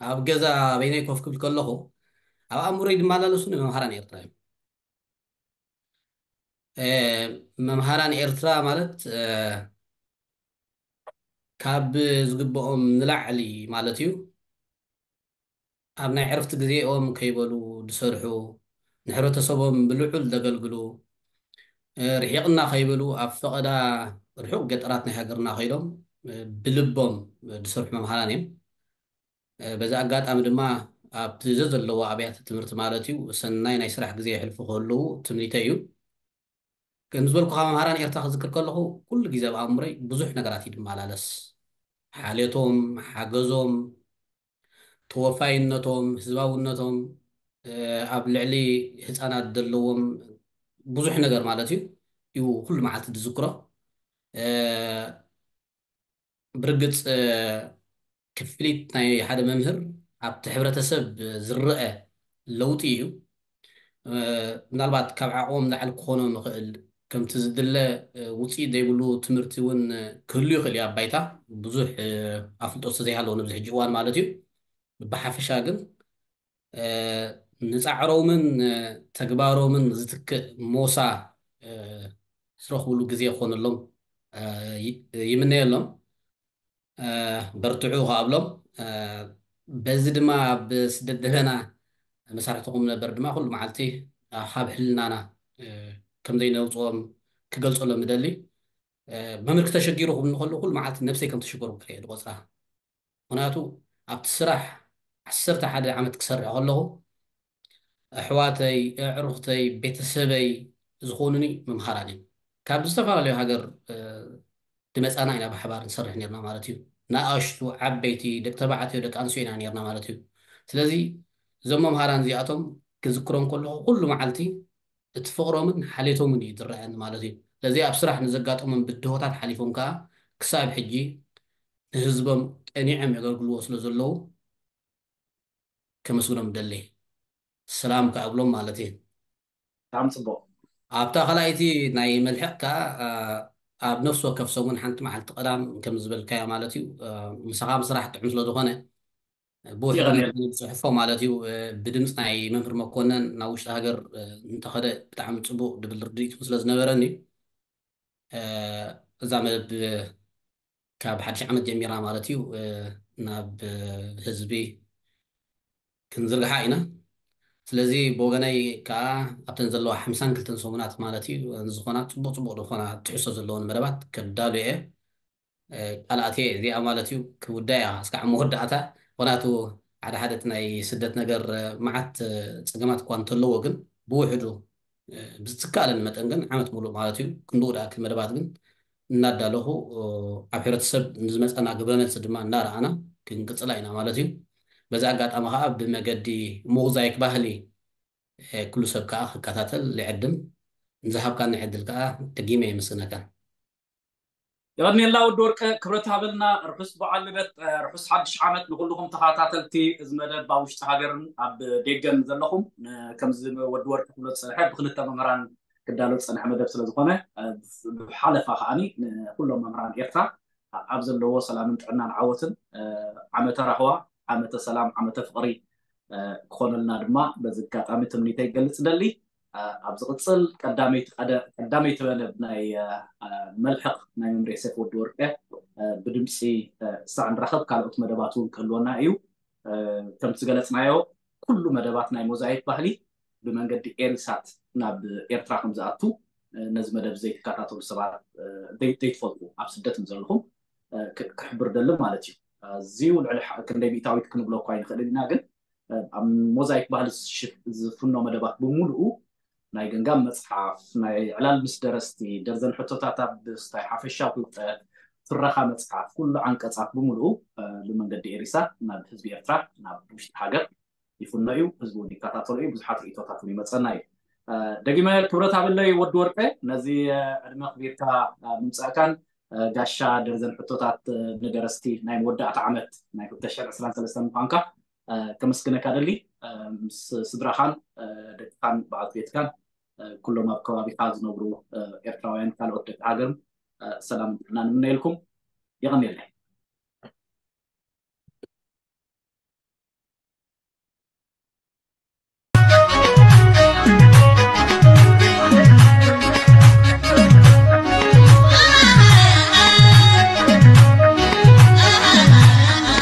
ኣብ ገዛ በይነይ ኮፍ ክብል ከለኹ ኣብ ኣእምሮይ ዝመላለሱ ንመምሃራን ኤርትራ እዮም። እ፣ መምሃራን ኤርትራ ማለት፣ እ፣ ካብ ዝግብኦም ንላዕሊ ማለት እዩ፣ ኣብ ናይ ዕርፍቲ ግዜኦም ከይበሉ ዝሰርሑ፣ ንሕብረተሰቦም ብልዑል ዘገልግሉ፣ እ፣ ርሒቕና ከይበሉ ኣብ ፈቐዳ ርሑቕ ገጠራት ናይ ሃገርና ከይዶም፣ እ፣ ብልቦም ዝሰርሑ መምሃራን እዮም። እ፣ በዚ ኣጋጣሚ ድማ ኣብቲ ዘዘለዎ ኣብያተ ትምህርቲ ማለት እዩ፣ ሰናይ ናይ ስራሕ ግዜ የሕልፉ ክህልዉ ትምኒተይ እዩ። ከም ዝበልኩኻ መምሃራን ኤርትራ ክዝክር ከለኹ ኩሉ ግዜ ኣብ ኣእምሮይ ብዙሕ ነገራት እዩ ዝመላለስ። ሓልዮቶም፣ ሓገዞም፣ ተወፋይነቶም፣ ህዝባውነቶም፣ እ፣ ኣብ ልዕሊ ህፃናት ዘለዎም ብዙሕ ነገር ማለት እዩ፣ እዩ ኩሉ መዓልቲ ዝዝክሮ። እ፣ ብርግፅ፣ እ፣ ክፍሊት ናይ ሓደ መምህር ኣብቲ ሕብረተሰብ ዝረአ ለውጢ እዩ። እ፣ ምናልባት ካብ ዓቕሞም ላዕሊ ክኾኖም ይኽእል፣ ከምቲ ዝድለ፣ እ፣ ውፅኢት ዘይብሉ ትምህርቲ እውን፣ እ፣ ክህሉ ይኽእል እዩ ኣብ ባይታ፣ ብዙሕ፣ እ፣ ኣፍልጦ ስለዘይሃለዎ ኣብዚ ሕጂ እዋን ማለት እዩ። ብሓፈሻ ግን፣ እ፣ ንፃዕሮምን፣ እ፣ ተግባሮምን ዝትክእ ሞሳ፣ እ፣ ዝረኽብሉ ግዜ ክኾነሎም፣ እ፣ ይ-፣ ይምነየሎም። እ፣ በርትዑ ከኣብሎም። እ፣ በዚ ድማ ኣብ ስደት ዘለና መሳርሕትኹም ነበር ድማ ኩሉ መዓልቲ፣ እ፣ ካብ ሕልናና፣ እ፣ ከም ዘይነውፅኦም ክገልፀሎም እደሊ። እ፣ መምህር ክተሸጊሩ ክብል ከለኹ ኩሉ መዓልቲ ነብሰይ ከም ተሸገሩ ክርኢ ዝቆፅራ። ምኽንያቱ ኣብቲ ስራሕ ዓሰርተ ሓደ ዓመት ክሰርሕ ከለኹ ኣሕዋተይ፣ ኣዕሩኽተይ፣ ቤተሰበይ ዝኾኑኒ መምሃራን እዮም። ካብ ዝተፈላለዩ ሃገር፣ እ፣ ዝመፃና ኢና ብሓባር ንሰርሕ ነርና ማለት እዩ። ንኣሽቱ፣ ዓበይቲ፣ ደቂ ተባዕትዮ፣ ደቂ ኣንስትዮ ኢና ነርና ማለት እዩ። ስለዚ እዞም መምሃራን እዚኣቶም ክዝክሮም ከለኹ ኩሉ መዓልቲ እቲ ፍቕሮምን ሓልዮቶምን እዩ ዝረኣየኒ ማለት እዩ። ስለዚ ኣብ ስራሕ ንዘጋጠሞም ብድሆታት ሓሊፎም ከዓ ክሳብ ሕጂ ንህዝቦም ቀኒዖም የገልግልዎ ስለ ዘለዉ ከመስግኖም ደሊ። ሰላም ክኣብሎም ማለት እዩ። ብጣዕሚ ፅቡቕ። ኣብታ ካልኣይቲ ናይ መልሕቕ ከዓ፣ እ፣ ኣብ ነፍሲ ወከፍ ሰሙን ሓንቲ መዓልቲ ቀዳም ከም ዝበልካዮ ማለት እዩ፣ እ፣ ምሳኻ ምስራሕ ጥዑም ስለ ዝኾነ፣ ብውሕዱ ጽሑፎ ማለት እዩ፣ እ፣ ብድምፂ ናይ መምህር መኮነን ናብ ውሽጢ ሃገር፣ እ፣ እንተኸደ ብጣዕሚ ጽቡቕ ድብል ርድኢት ስለ ዝነበረኒ፣ እ፣ እዛ መደብ ካብ ሓድሽ ዓመት ጀሚራ ማለት እዩ፣ እ፣ ናብ፣ እ፣ ህዝቢ ክንዝርግሓ ኢና። ስለዚ ብወገነይ ከዓ ኣብተን ዘለዋ ሓምሳን ክልተን ሰሙናት ማለት እዩ፣ ዝኾና ጽቡቕ ጽቡቕ ዝኾና ትሕዝቶ ዘለዎን መደባት ከዳሉ እየ። እ፣ ቃል ኣትየ እዚኣ ማለት እዩ ክውዳ እያ፣ እስካዕ መወዳእታ። ምኽንያቱ ሓደ ሓደ እቲ ናይ ስደት ነገር፣ እ፣ መዓት፣ እ፣ ጸገማት እኳ እንተለዎ፣ ግን ብውሕዱ፣ እ፣ ብዝትካኣለኒ መጠን ግን ዓመት ሙሉእ ማለት እዩ ክንድኡ ደኣክል መደባት ግን እናዳለኹ፣ እ፣ ኣብ ሕብረተሰብ ንዝመጸና ግብረ መልሲ ድማ እናረኣና ክንቅጽላ ኢና ማለት እዩ። በዚ ኣጋጣሚ ከዓ ብመገዲ ሞዛይክ ባህሊ፣ እ፣ ኩሉ ሰብ ከዓ ክከታተል ይዕድም። ንዝሃብካኒ ዕድል ከዓ ደጊመ የመስግነካ። የቐንየልና ወዲ ወርቀ፣ ክብረት ሃበልና። ርሑስ በዓል ልደት፣ እ፣ ርሑስ ሓድሽ ዓመት ንኹልኹም ተኸታተልቲ እዚ መደብ ኣብ ውሽጢ ሃገርን ኣብ ደገን ዘለኹም። ን-፣ ከምዚ ወዲ ወርቀ ክብሎ ዝጸንሐ ብክልተ መምህራን ክዳሎ ዝጸንሐ መደብ ስለ ዝኾነ፣ እ፣ ብሓለፋ ከዓኒ ንኹሎም መምህራን ኤርትራ ኣብ ዘለዎ ሰላምን ጥዕናን ዓወትን፣ እ፣ ዓመተ ራህዋ፣ ዓመተ ሰላም፣ ዓመተ ፍቕሪ፣ እ፣ ክኾነልና ድማ በዚ ኣጋጣሚ ትምኒተይ ይገልጽ ደሊ። እ፣ ኣብ ዝቕጽል ቀዳመይቲ ቀደ-፣ ቀዳመይቲ መደብ ናይ፣ እ፣ እ፣ መልሕቕ ናይ መምሬ ሴፍ ወዲ ወርቀ፣ እ፣ ብድምጺ፣ እ፣ ክሳዕ ንራኸብ ካልኦት መደባት እውን ክህልወና እዩ። እ፣ ከምቲ ዝገለጽናዮ ኩሉ መደባት ናይ ሞዛይክ ባህሊ ብመንገዲ ኤሪሳት ናብ ኤርትራ ከም ዝኣቱ፣ እ፣ ነዚ መደብ ዘይትከታተሉ ሰባት፣ እ፣ ዘይ-፣ ዘይትፈልጡ ኣብ ስደት ዘለኹም፣ እ፣ ክ-፣ ክሕብር ደሊ ማለት እዩ። ኣዝዩ ልዕሊ ሓ-፣ ክንደይ ሚእታዊት ክንብሎ እኳ ኣይንኽእልን ኢና፣ ግን፣ እ፣ ኣብ ሞዛይክ ባህሊ ዝሽ-፣ ዝፍኖ መደባት ብምሉኡ ናይ ገንጋም መጽሓፍ፣ ናይ ዕላል ምስ ደረስቲ፣ ደርዘን ሕቶታት ኣብ ስታይ ሓፈሻዊ ፍልጠት፣ ትረኻ መጽሓፍ፣ ኩሉ ዓንቀጻት ብምሉኡ፣ እ፣ ብመንገዲ ኤሪሳት ናብ ህዝቢ ኤርትራ፣ ናብ ውሽጢ ሃገር ይፍኖ እዩ። ህዝቢ እውን ይከታተሎ እዩ። ብዙሓት ርእይቶታት እውን ይመጸና እዩ። እ፣ ደጊመ ክብረት ሃበለይ ወዲ ወርቀ፣ ነዚ፣ እ፣ ዕድመ ኣኽቢርካ፣ እ፣ ምምጻእካን፣ እ፣ ጋሻ ደርዘን ሕቶታት፣ እ፣ ንደረስቲ ናይ መወዳእታ ዓመት ናይ ክልተ ሽሕን ዕስራን ሰለስተን ምዃንካ፣ እ፣ ከመስግነካ ደሊ። እ፣ ምስ ስድራኻን፣ እ፣ ደቅኻን በዓልቲ ቤትካን፣ እ፣ ኩሎም ኣብ ከባቢኻ ዝነብሩ፣ እ፣ ኤርትራውያን ካልኦት ደቂ ሃገርም፣ እ፣ ሰላምን ጥዕናን ንምነየልኩም። የቐንየለይ።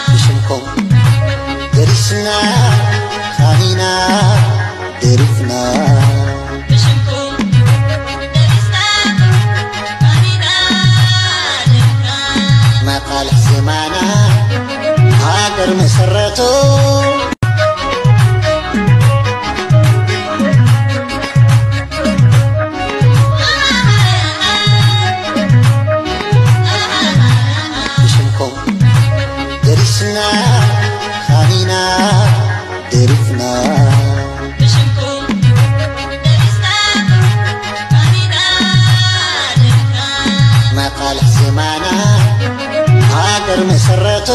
ብሽምኩም ደሪስና፣ ሃኒና፣ ደሪፍና። መቓልሕ ዜማና ሃገር መሰረቱ። ብሽምኩም ደሪስና፣ ሃኒና፣ ደሪፍና። መቓልሕ ዜማና ሃገር መሰረቱ።